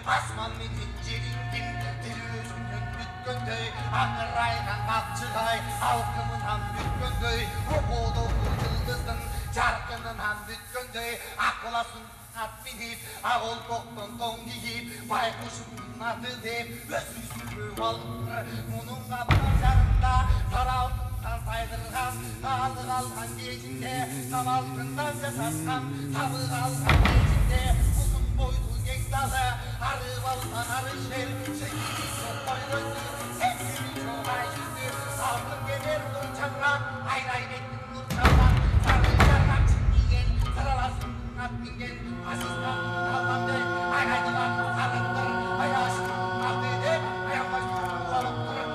асман менен жериңдин тилүүсүнөн бүткөндөй, аңырайган капчыгай алкымынан бүткөндөй, окоодогу жылдыздын жаркынынан бүткөндөй, акыласын ат минип, ак олпоктон тоң кийип, байкуштун аты деп өзүн алыптыр. Мунун капчарында сары алтындан сайдырган, алы калган кезинде самалтындан жасаскан, табы калган кезинде узун бойду далы, арып алган арышер, шекини сокой көзү, сексини чоғай жүзү, алтын кемер нурчанга, айрай беттин нурчанга, сары жаргак чиңиген, сараласын ат минген, асистан алгандай, айрайдылан сарыктыр, аяшын аты деп, аянбаштан калыптыр,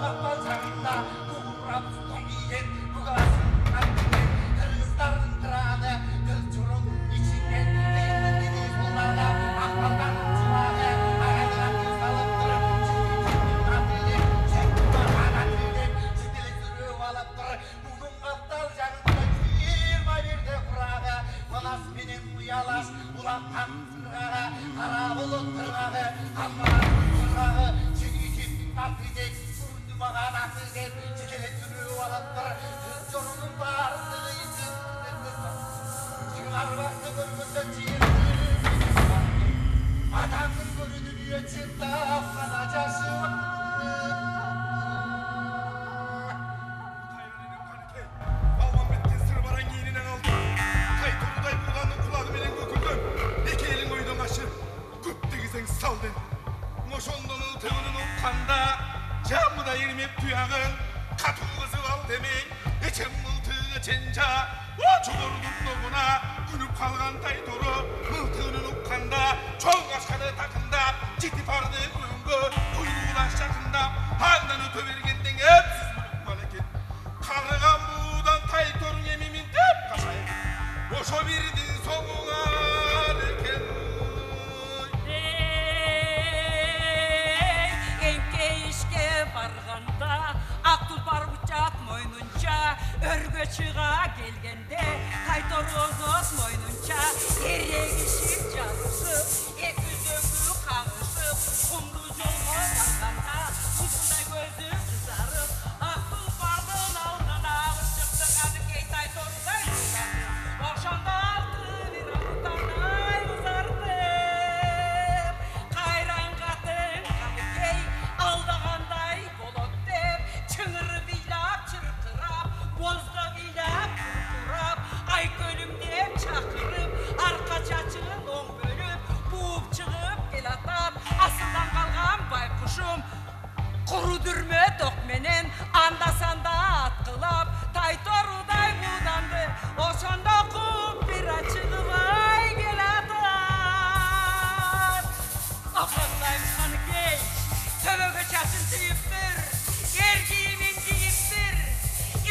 капал жагында, кугурап стон кийген, бугаласын ат минген, кыргыздардын кыраны, кыз журунун ичинен, Adamın görünür yetinde afana caşı ирмеп туягын катуу кызып ал демей эчем мылтыгы ченжа жогорудун догуна күнүп калган тайтору мылтыгын укканда чоң кашканы такындап жетип барды көңгө куйругуна жакындап андан өтө бергенден эпсиз мүлүкман экен карыган буудан тайторуң эми минтеп кашайын ошо бирдин соңуңар экен эңкейишке барганда ак тулпар бычак мойнунча өргө чыга келгенде тайторозот мойнунча эрегишип жабышып эки зөңгү кагышып кумду жолго барганда ушундай көзү кызарып ак тулпардын алдына чыкты кадыкей тайторудай ошондо алты бир атанай узартып кайрангатын кадыкей алдагандай болот деп чыңыры бийлап чыркырап бозго бийлап куркурап айкөлүм деп чакырып арка чачын оң бөлүп бууп чыгып келатат асылдан калган байкушум куру дүрмө ток менен анда санда аткылап тайторудай бууданды ошондо куп бира чыгыбай келатат акырдайм каныкей төбөгө чачын түйүптүр эр кийимин кийиптир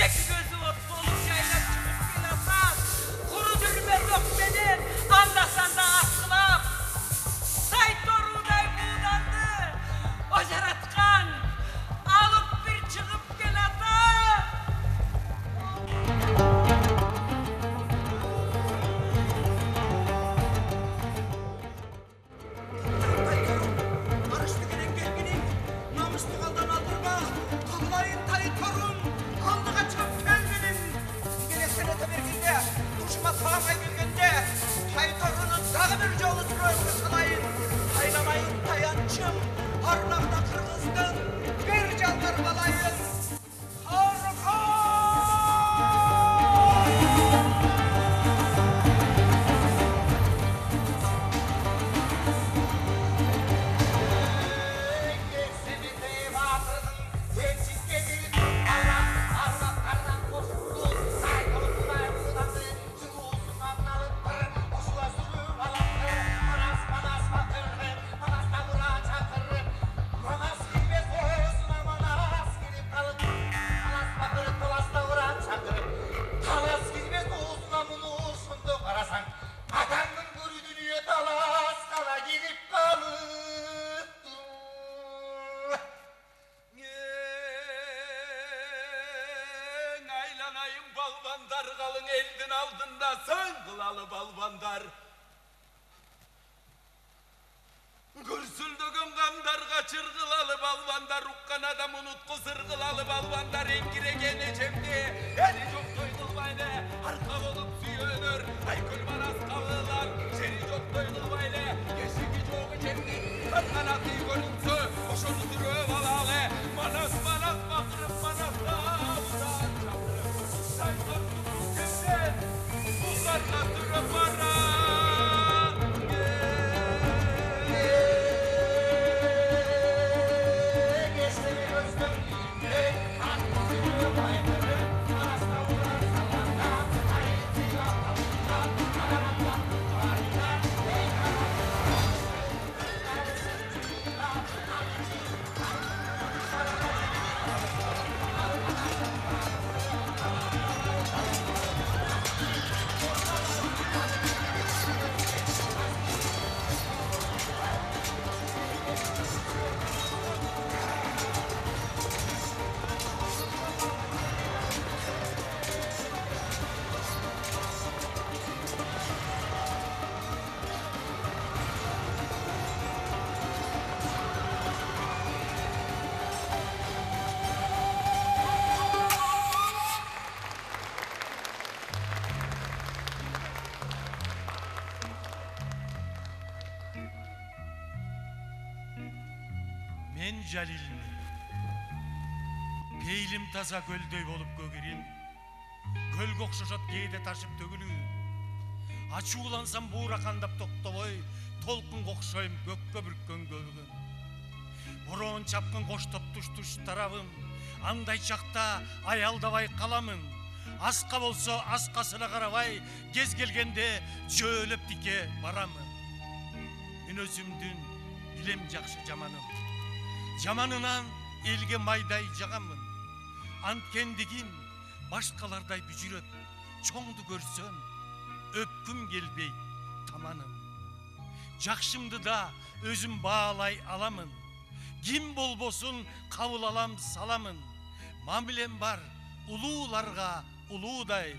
эки көзү от болуп жайлап чыгып келатат куру дүрмө ток менен анда санда аткылап тайторудай бууданды ожараткан алып бир чыгып келатат арышты менен келгиниң намысты калдан алдырма тыгылайын тайторун алдыга чыгып келгиниң келесен өтө бергенде тушума таамай келгенде тайторуну дагы бир жолу сүрөткө салайын айламайын таянчым арнагда кыргыздын бир жалгарбалайын балбандар қалың елдің алдында сөн қылалы балбандар. Күрсілдіген қамдарға чырғылалы балбандар, ұққан адам ұнытқы сырғылалы балбандар, еңкіреген ежемде, әлі жоқ той қылбайлы, арқа болып сүйенір, айкүл манас қабылар, жері жоқ той қылбайлы, ешігі жоғы жемдің, қанаты көрінсі, ошоны түріп алалы, манас бақырып манасты аудан жабырып, сайқын кемден, бұларға түріп бара. Мен Жалилмин. Пейлим таза көлдөй болуп көгерим. Көлгө окшошот кээде ташып төгүлүү. Ачуулансам буура кандап токтобой, толкунга окшойм көккө бүрккөн көлгөн. бороон чапкын кош топтуш тарабым, андай чакта аялдабай каламын. Аска болсо аскасына карабай, кез келгенде жөөлөп тике барамын. Мен өзүмдүн билем жакшы жаманым. Жаманынан элге майдай жагамын. Анткендигим башкалардай бүжүрөп, чоңду көрсөм, өпкүм келбей таманым. Жакшымды да өзүм баалай аламын. Ким болбосун кабыл алам саламын. Мамилем бар улууларга улуудай,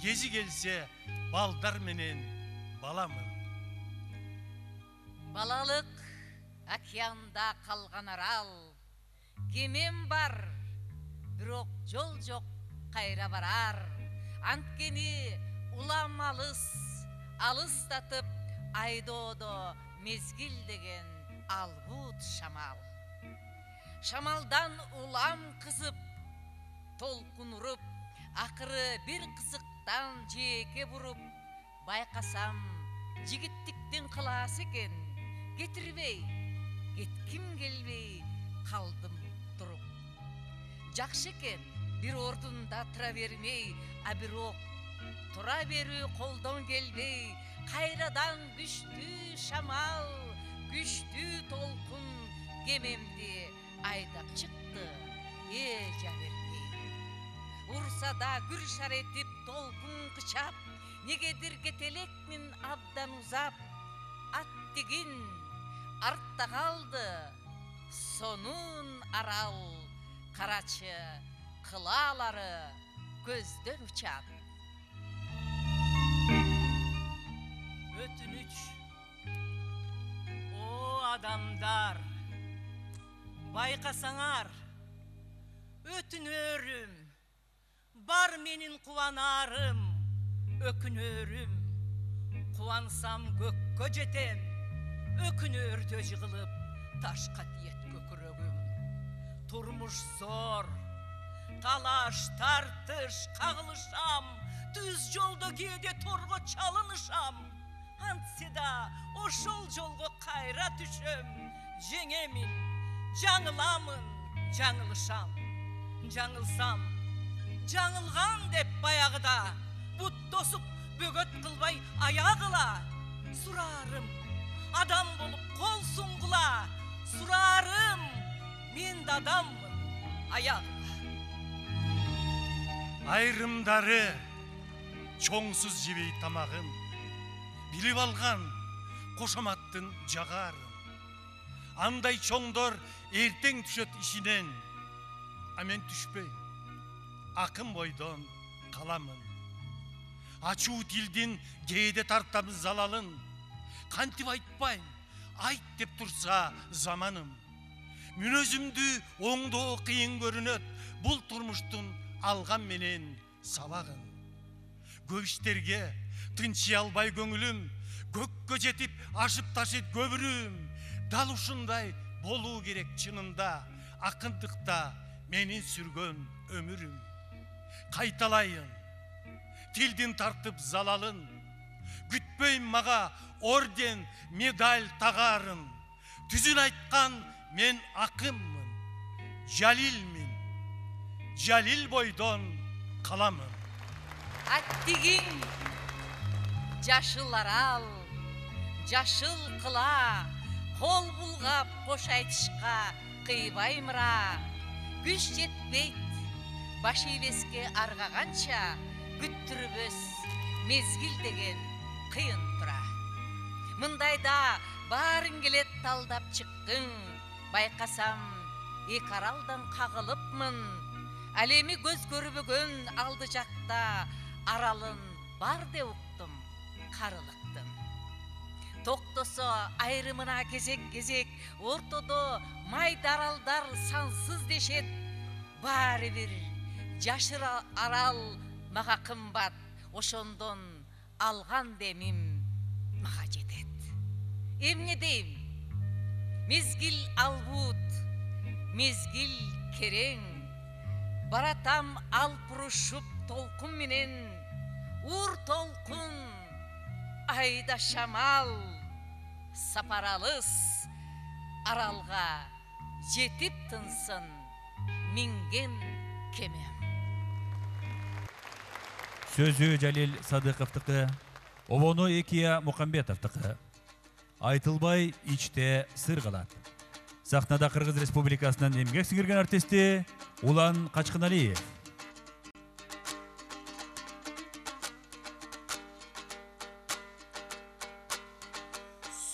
кези келсе балдар менен баламын. Балалык океанда калган арал, кемем бар, бирок жол жок кайра барар. Анткени улам алыстатып айдоодо мезгил деген албут шамал. Шамалдан улам кызып, толкун уруп, акыры бир кызыктан жээкке буруп, байкасам жигиттиктин кылаасы экен, кетирбей, кетким келбей калдым туруп. Жакшы экен бир ордунда тура бермей, а бирок тура берүү колдон келбей, кайрадан күчтүү шамал, күчтүү толкун кемемди айдап чыкты, эжа бербей. Урса да күр шаретип толкун кычап, негедир кетелекмин абдан узап. Аттигин артта калды, сонун арал, карачы кылаалары көздөн учат. Өтүнүч, о адамдар, байкасаңар, өтүнөрүм, бар менин кубанарым, өкүнөрүм, кубансам көккө жетем, өкүнөрдө жыгылып, ташка тиет көкүрөгүм. Турмуш зор, талаш, тартыш, кагылышам, түз жолдо кээде торго чалынышам. Антсе да ошол жолго кайра түшөм, жеңемин, жаңыламын, жаңылышам. Жаңылсам, жаңылган деп баягыда, бут тосуп бөгөт кылбай аягыла. Сурарым, адам болуп кол суңгула, сурарым, мен да адаммын, аягыла. Айрымдары чоңсуз жебей тамагын, билип алган кошоматтын жагарын. Андай чоңдор эртең түшөт ишинен, а мен түшпөйм, акын бойдон каламын. Ачуу тилдин кээде тартам залалын, кантип айтпайм, айт деп турса заманым. Мүнөзүмдү оңдоо кыйын көрүнөт, бул турмуштун алган менен сабагын. Көп иштерге тынчый албай көңүлүм, көккө жетип ашып ташыт көбүрүм. Дал ушундай болуу керек чынында, акындыкта менин сүргөн өмүрүм. Кайталайын, тилдин тартып залалын, күтпөйм мага орден, медаль тагарын. Түзүн айткан мен акынмын, жалилмин, жалил бойдон каламын. Аттигин жашыл арал, жашыл кыла, кол булгап кош айтышка кыйбаймыра. Күч жетпейт, баш ийбеске аргаганча, күттүрбөс мезгил деген кыйын тура. Мындайда баарын келет талдап чыккың, байкасам эки аралдан кагылыпмын. Ал эми көз көрбөгөн алды жакта аралын бар деп уктум карылыктын. Токтосо айрымына кезек-кезек, ортодо майда аралдар сансыз дешет. Баары бир жашыр арал мага кымбат, ошондон алган демим мага жетет. Эмне дейм? Мезгил албут, мезгил керең, баратам алпурушуп толкун менен, ур толкун, айда шамал, сапар алыс, аралга жетип тынсын минген кеме. Сөзү Жалил Садыковтыкы, обону Экия Мухамбетовтыкы. Айтылбай ичте сыр калат. Сахнада Кыргыз Республикасынын эмгек сиңирген артисти Улан Качкыналиев.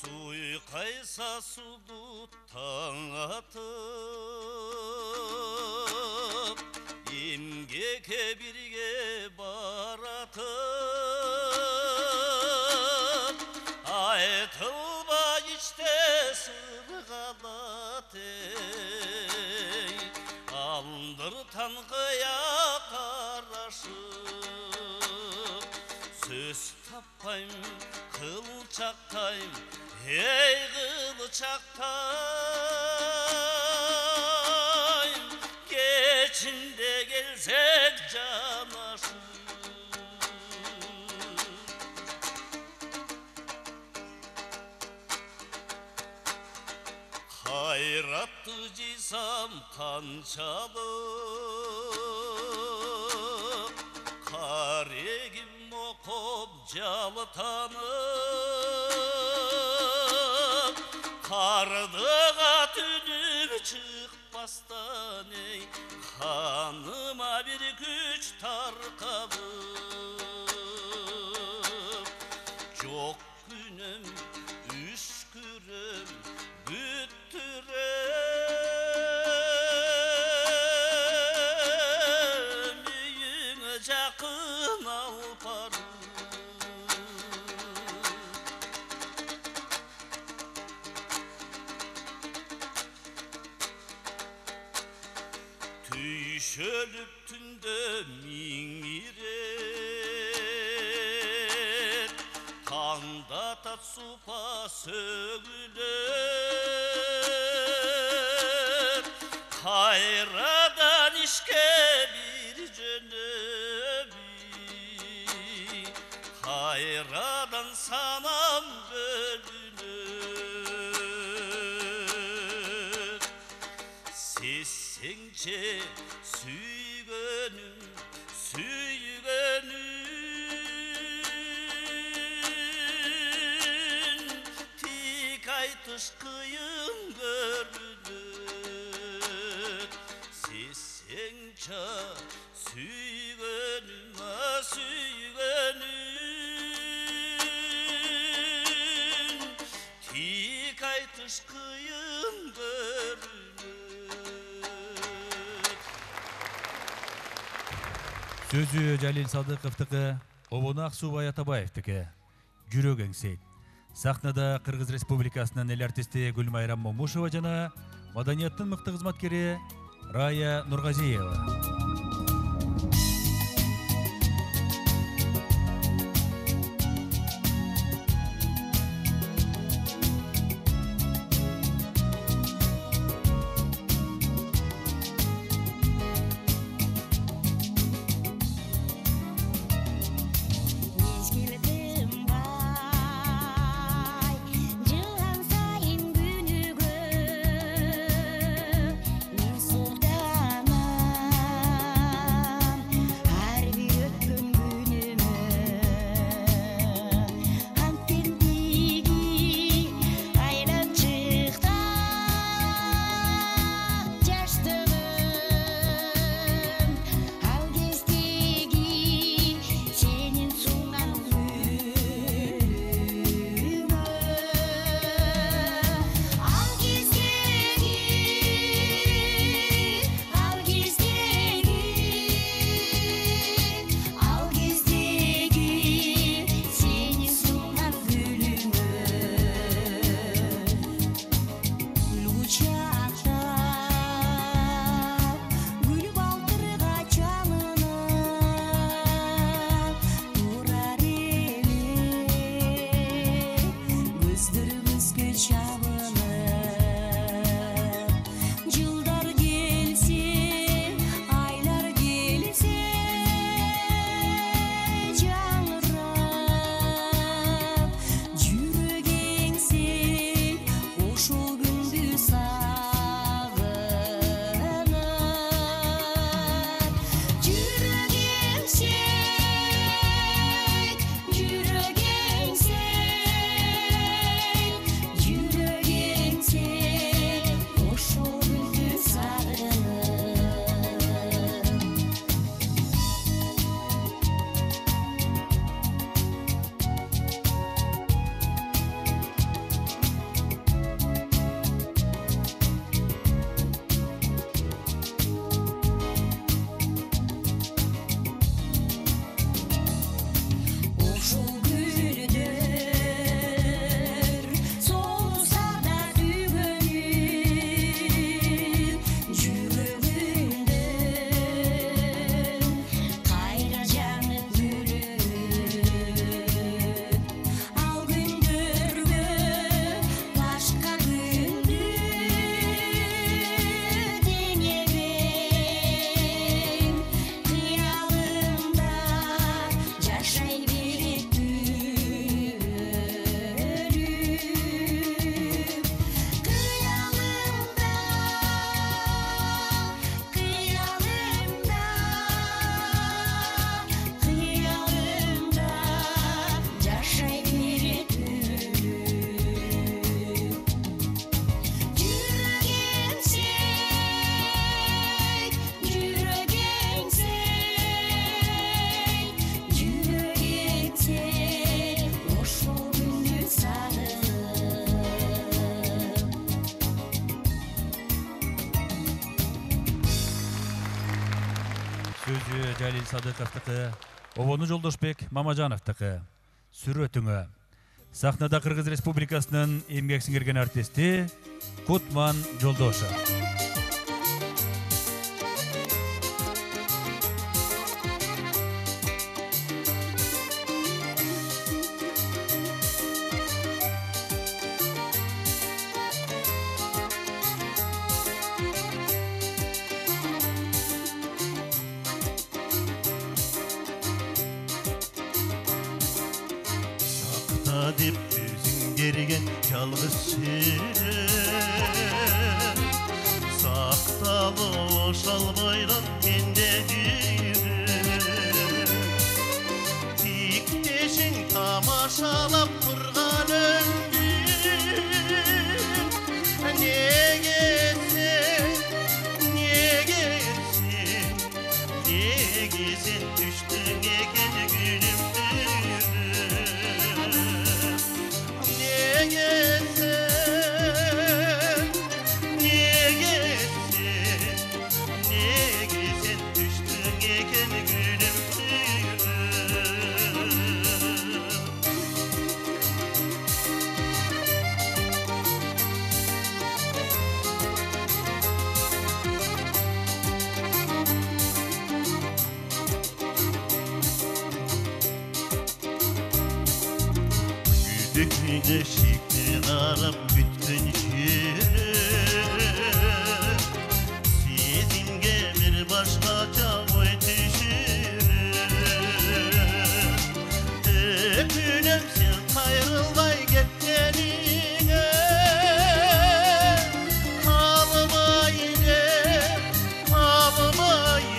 Суйкайса суду таң атып, эмгекке бирге баратып, айтылбай ичте сыр калат эй, алдыртан кыя карашып, сөз таппайм кылчактайм, ey kılçaktayım, geçinde gelsek canaşım. Hayratlı cisam kançalık, karegim okup jalıtanıp, kardığa tünür çıkpastan ey, kanıma bir güç tarkabıp, çok günüm üskürüm büttürüm, yüğüne jakın alparım. Tüyşölüp tünde mingiret, kanda tat supa sögülür, hayradan işke bir jönöbi, hayradan sanam bölünür. Sessençe süygönüm, süygönüm, tik aytış kıyın görünür. Sessençe süygönüm, süygönüm, tik aytış kıyın görünür. Сөзү Жалил Садыковтыкы, обону Аксубай Атабаевтики. Жүрөк эңсейт. Сахнада Кыргыз Республикасынын эл артисти Гүлмайрам Момушева жана маданияттын мыкты кызматкери Рая Нургазиева. Sultana Жалил Садыковтыкы, Обону Жолдошбек Мамажановтыкы. Сүрөтүңө. Сахнада Кыргыз Республикасынын эмгек сиңирген артисти Кутман Жолдошов. Dip yüzün gergen yalnız seni Saktalı oşalmaylan mende yürü Dikteşin tamaşalap turgan ömrüm Ne gelsin, ne gelsin Ne gelsin düştün eken günümdür Ne gelsin düştün eken günüm Güdükle şikli arap bütün Sizinge bir başkaca boy düşürür Öpünüm sen kayrılmay gittenine Kalmaydı, kalmaydı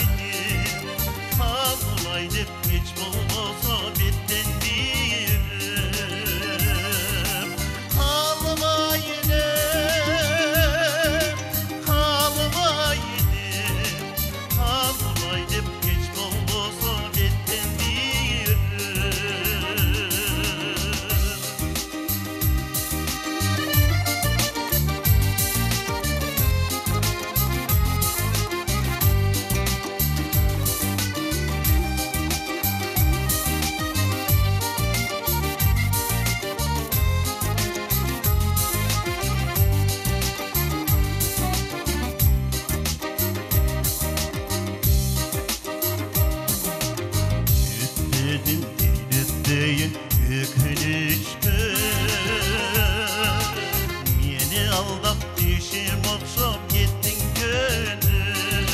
Kalmaydı hiç bulmasa bitten bir Kalmaydı, kalmaydı Kalmaydı hiç bulmasa bitten bir Üstledim değil ökülüşkü Meni aldap düşüm okşap gittin gönül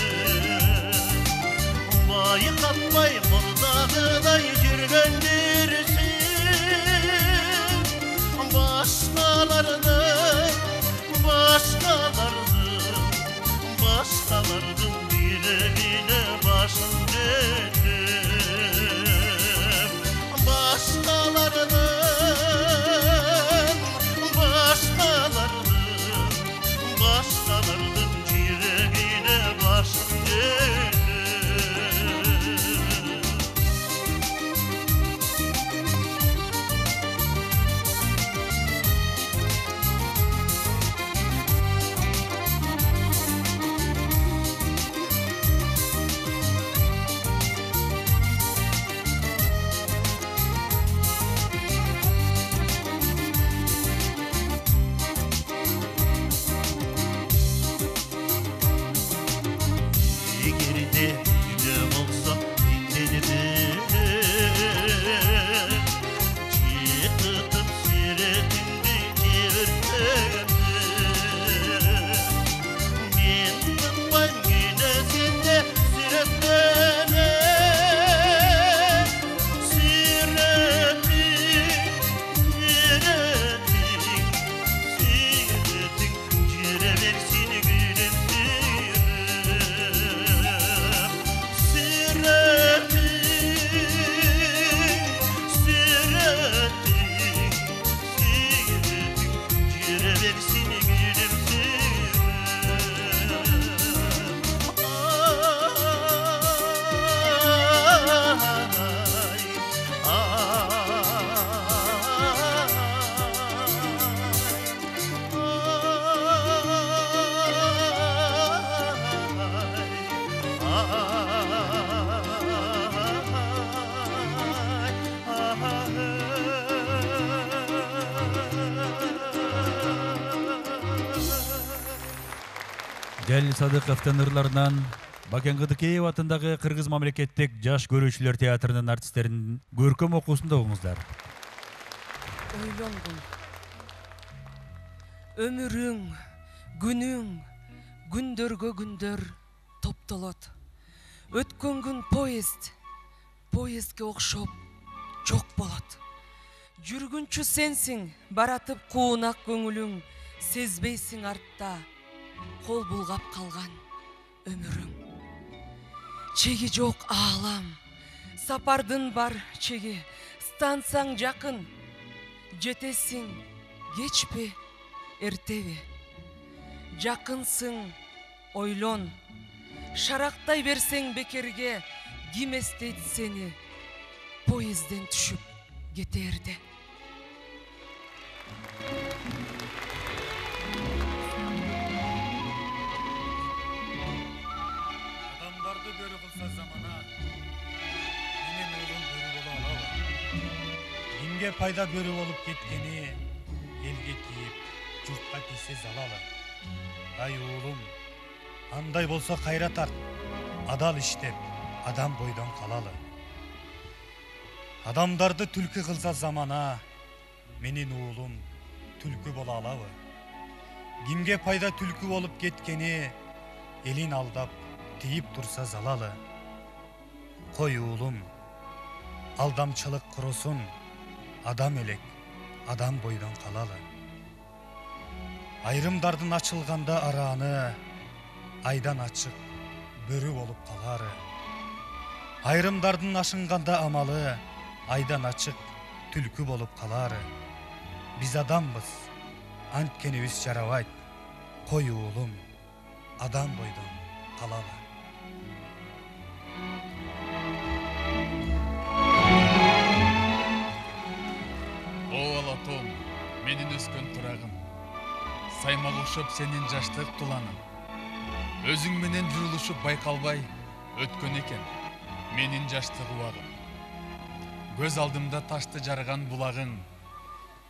Bayıkatmay murdağıday жүргөндүрсүн Başkalarının yüreğine başın dönüp Başkalarının yüreğine başın dönüp Geride gülüm olsa bitenime Çıkıtıp süretinde çevirteme Ben tutmam güne sende süretleme Süretin Cüre versin gülüm Жалил Садыковдун ырларынан Бакен Кыдыкеев атындагы Кыргыз мамлекеттик жаш көрүүчүлөр театрынын артисттеринин көркөм окуусунда угуңуздар. Ойлонгун. Өмүрүң, күнүң, күндөргө күндөр топтолот. Өткөн күн поездге окшоп жок болот. Жүргүнчү сенсиң, баратып куунак көңүлүң, сезбейсиң артта кол булгап калган өмүрүң. Чеги жок аалам, сапардын бар чеги, станцияң жакын, жетесиң кечпи, эртеби. Жакынсың, ойлон, шарактай берсең бекерге, ким эстейт сени поездден түшүп кетерде. Адамдарды бөрү кылса замана, менен оолун бөрү боло алабы? Кимге пайда бөрү болуп кеткени, элге тиип, журтка тийсе залалы. Ай уулум, андай болсо кайра тарт, адал иштеп, адам бойдон калалы. Адамдарды түлкү кылса замана, менин уулум түлкү боло алабы? Кимге пайда түлкү болуп кеткени, элин алдап, тийип турса залалы. Кой уулум, алдамчылык курусун, адам элек, адам бойдон калалы. Айрымдардын ачылганда арааны, айдан ачык бөрү болуп калары. Айрымдардын ашынганда амалы, айдан ачык түлкү болуп калары. Биз адамбыз, анткенибиз жарабайт. Кой уулум, адам бойдон калалы. О алатом, менин өскөн турагым, саймак окшоп сенин жаштык туланың. Өзүң менен журулушуп байкалбай өткөн экен менин жаштык убагым. Көз алдымда ташты жарган булагың,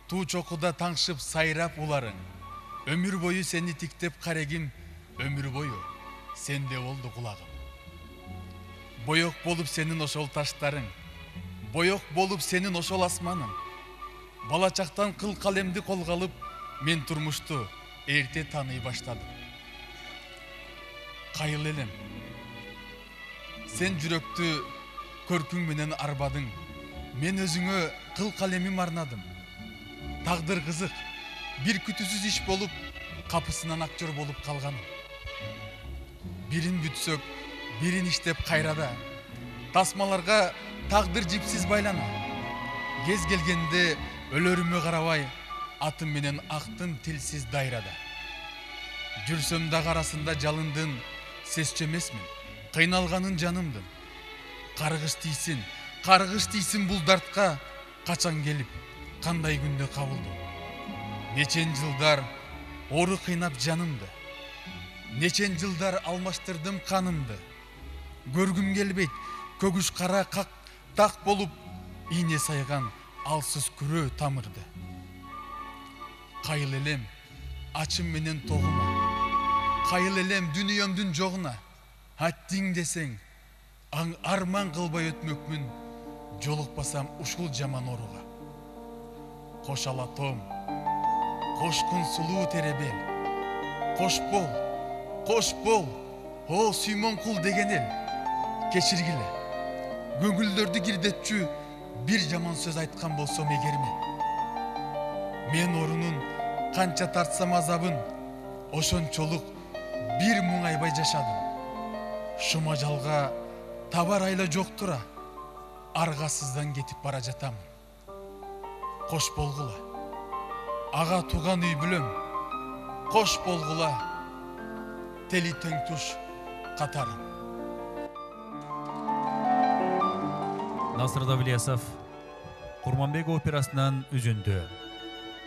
туу чокуда таңшып сайрап уларың. Өмүр бою сени тиктеп карегим, өмүр бою сенде болду кулагым. Боек болуп сенин ошол таштарың, боек болуп сенин ошол асманың. Бала чактан кыл калемди колго алып, мен турмушту эрте тааный баштадым. Кайыл элем, сен жүрөктү көркүң менен арбадың, мен өзүңө кыл калемим арнадым. Тагдыр кызык, бир күтүүсүз иш болуп, капысынан актер болуп калганым. Бирин бүтсөк, бирин иштеп кайрада, тасмаларга тагдыр жипсиз байлана. Кез келгенде өлөрүмө карабай, атым менен актым тилсиз дайрада. Жүрсөм дагы арасында жалындын, сесчү эмесмин, кыйналганын жанымдын. Каргыш тийсин бул дартка, качан келип, кандай күндө кабылдым. Нечен жылдар ору кыйнап жанымды, нечен жылдар алмаштырдым канымды. Көргүм келбейт, көгүш кара как так болуп, ийне сайган алсыз күрөө тамырды. Кайыл элем ачым менен тогума, кайыл элем дүнүйөмдүн жогуна. Аттиң десең, арман кылбай өтмөкмүн, жолукпасам ушул жаман оруга. Кош алатом, кошкун сулуу теребел, кош бол, о сүймөн кул деген эл. Кечиргиле, көңүлдөрдү кирдетчү бир жаман сөз айткан болсом эгермен. Мен орунун канча тартсам азабын, ошончолук бир муңайбай жашадым. Шума жалга табар айла жок тура, аргасыздан кетип бара жатам. Кош болгула, ага туган үй бүлөм, кош болгула, тели тең туш катарым. Насыр Давлиасов Курманбек операсынан үзүндү.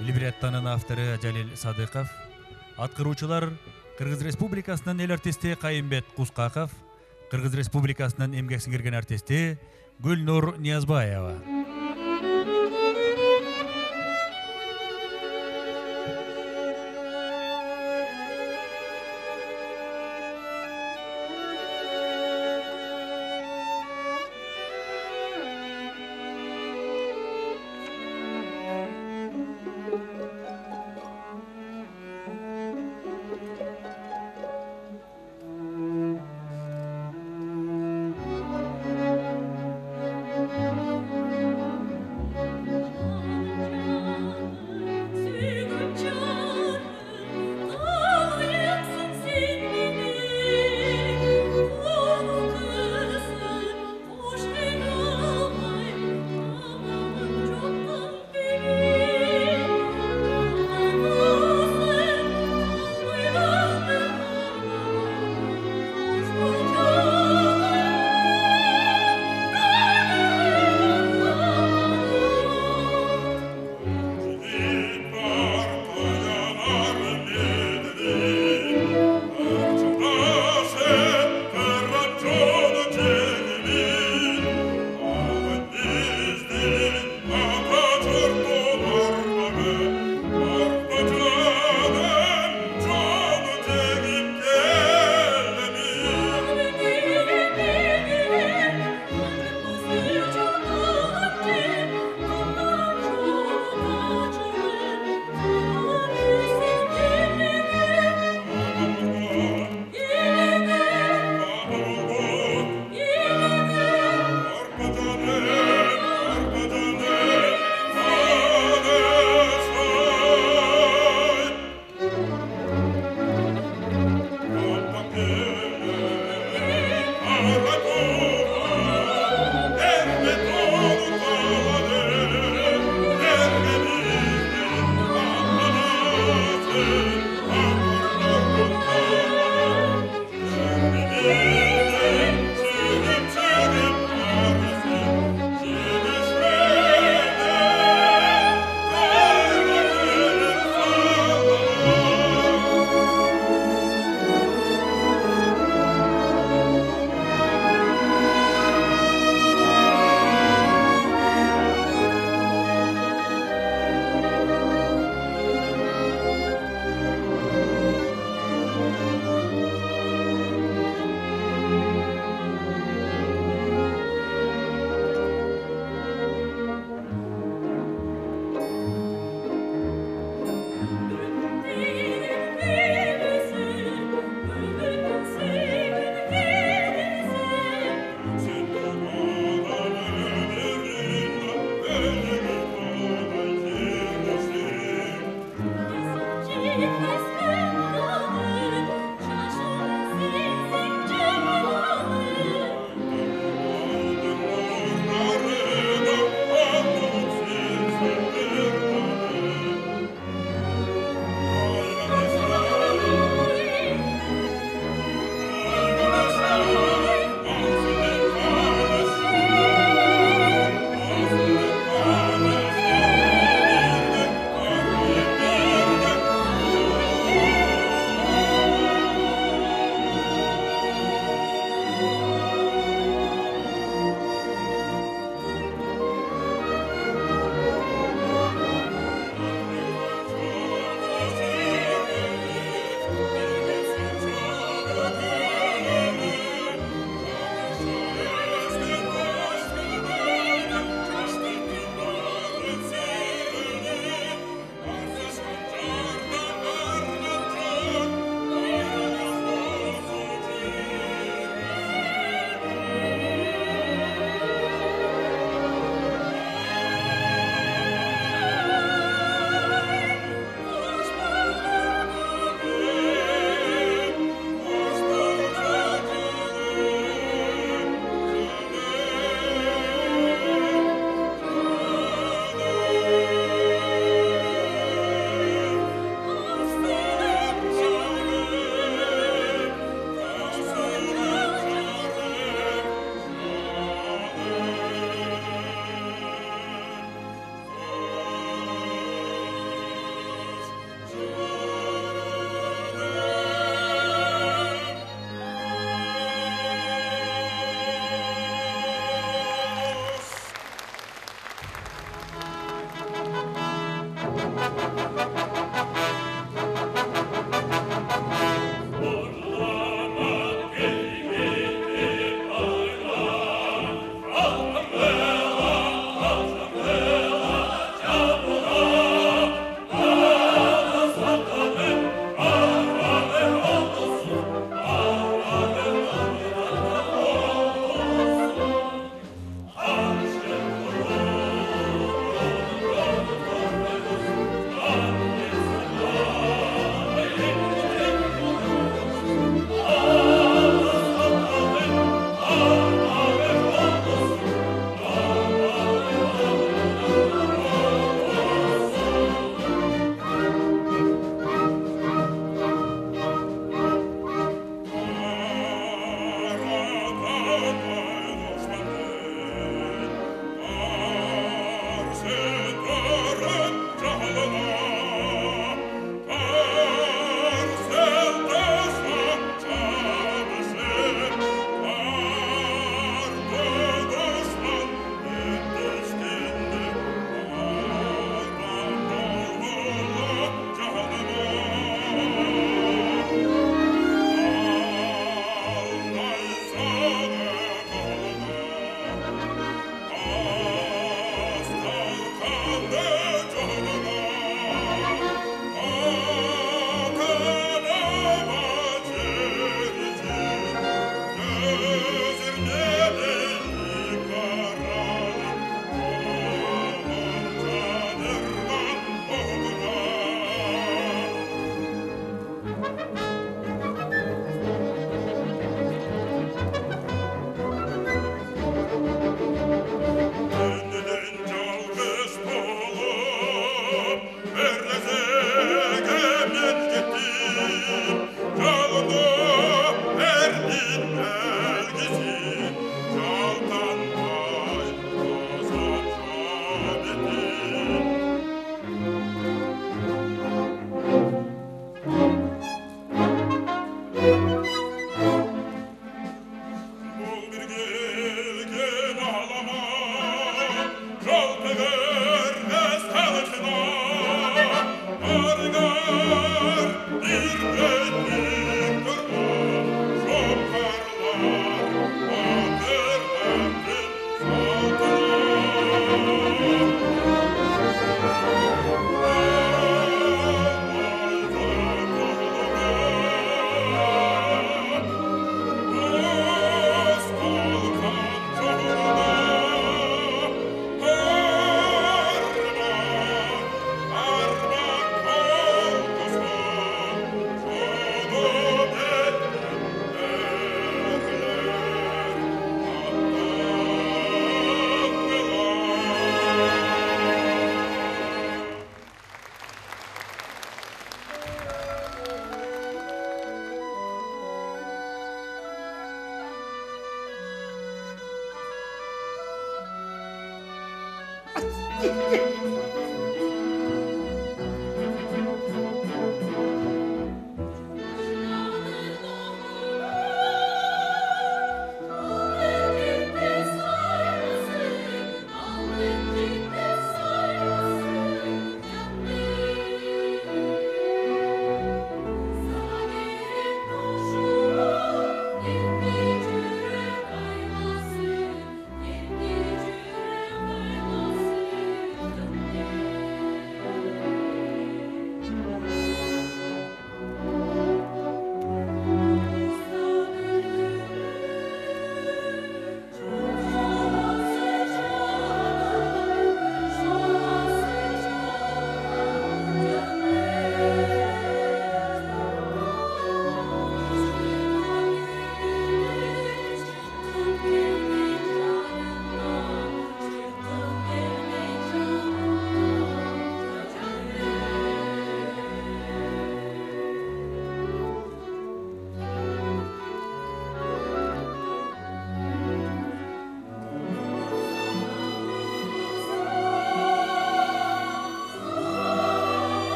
Либреттонун автору Жалил Садыков, аткаруучулар Кыргыз Республикасынын эл артисти Кайымбет Кускаков, Кыргыз Республикасынын эмгек сиңирген артисти Гүлнур Ниязбаева.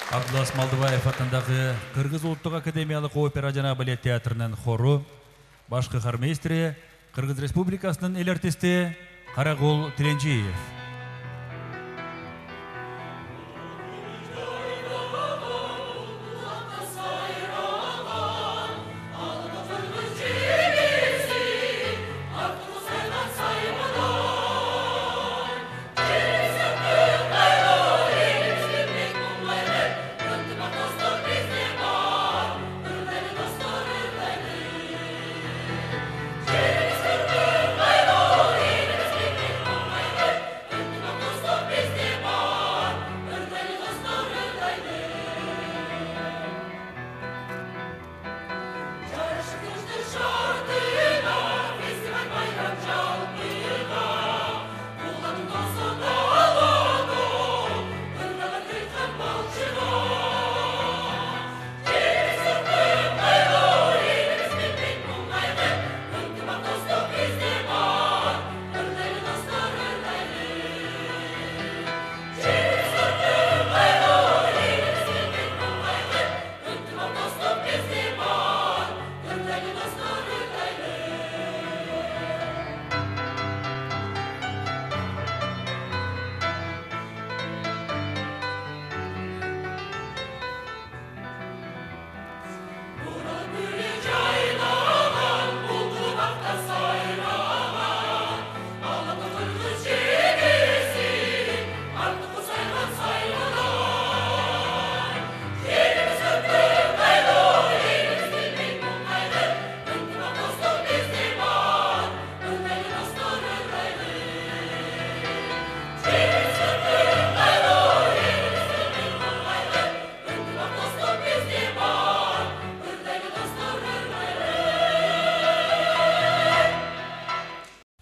Абдулас Малдыбаев атындагы Кыргыз улуттук академиялык опера жана балет театрынын хору, баш кыхармейстери, Кыргыз Республикасынын эл артисти Карагул Тиленжиев.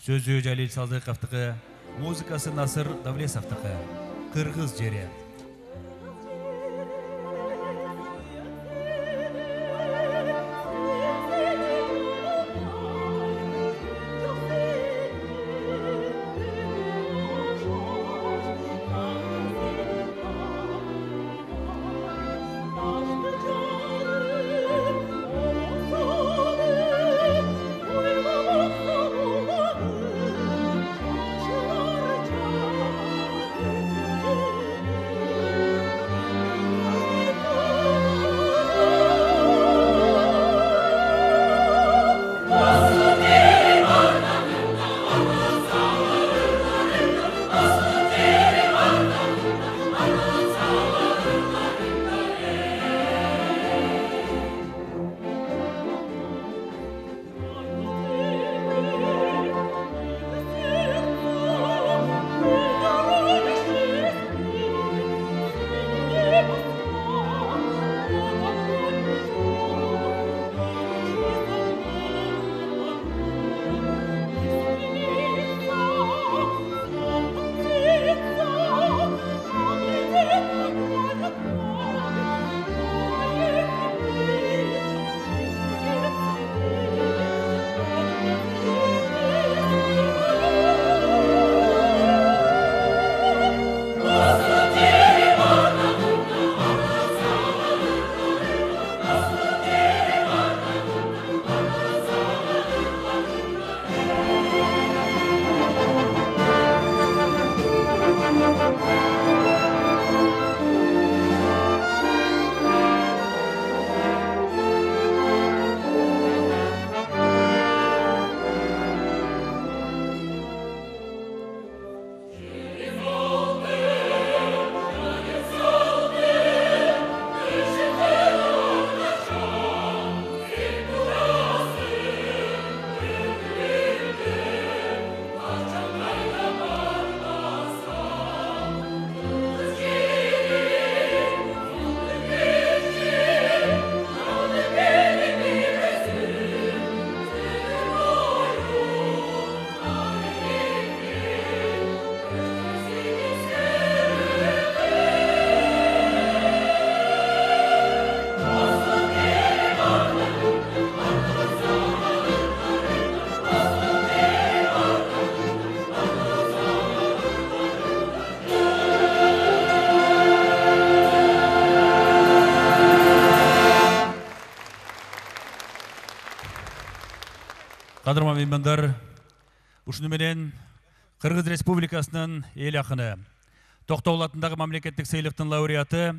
Сөзү Жалил Салдыковтуку, музыкасы Насыр Давлесовтуку. Кыргыз жери. Кадырман меймандар, ушуну менен Кыргыз Республикасынын эл акыны, Токтогул атындагы мамлекеттик сыйлыктын лауреаты,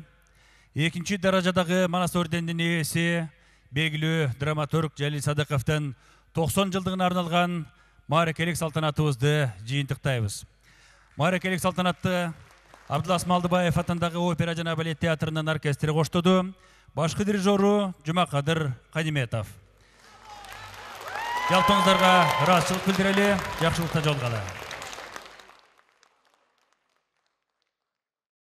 2-нчи даражадагы Манас орденинин ээси, белгилүү драматург Жалил Садыковдун 90 жылдыгына арналган мааракелик салтанатыбызды жыйынтыктайбыз. Мааракелик салтанатты Абдулас Малдыбаев атындагы опера жана балет театрынын оркестри коштоду. Башкы дирижеру Жумакадыр Кадиметов. Жалпыңыздарга ыраазычылык билдирели, жакшылыкта жолугалы.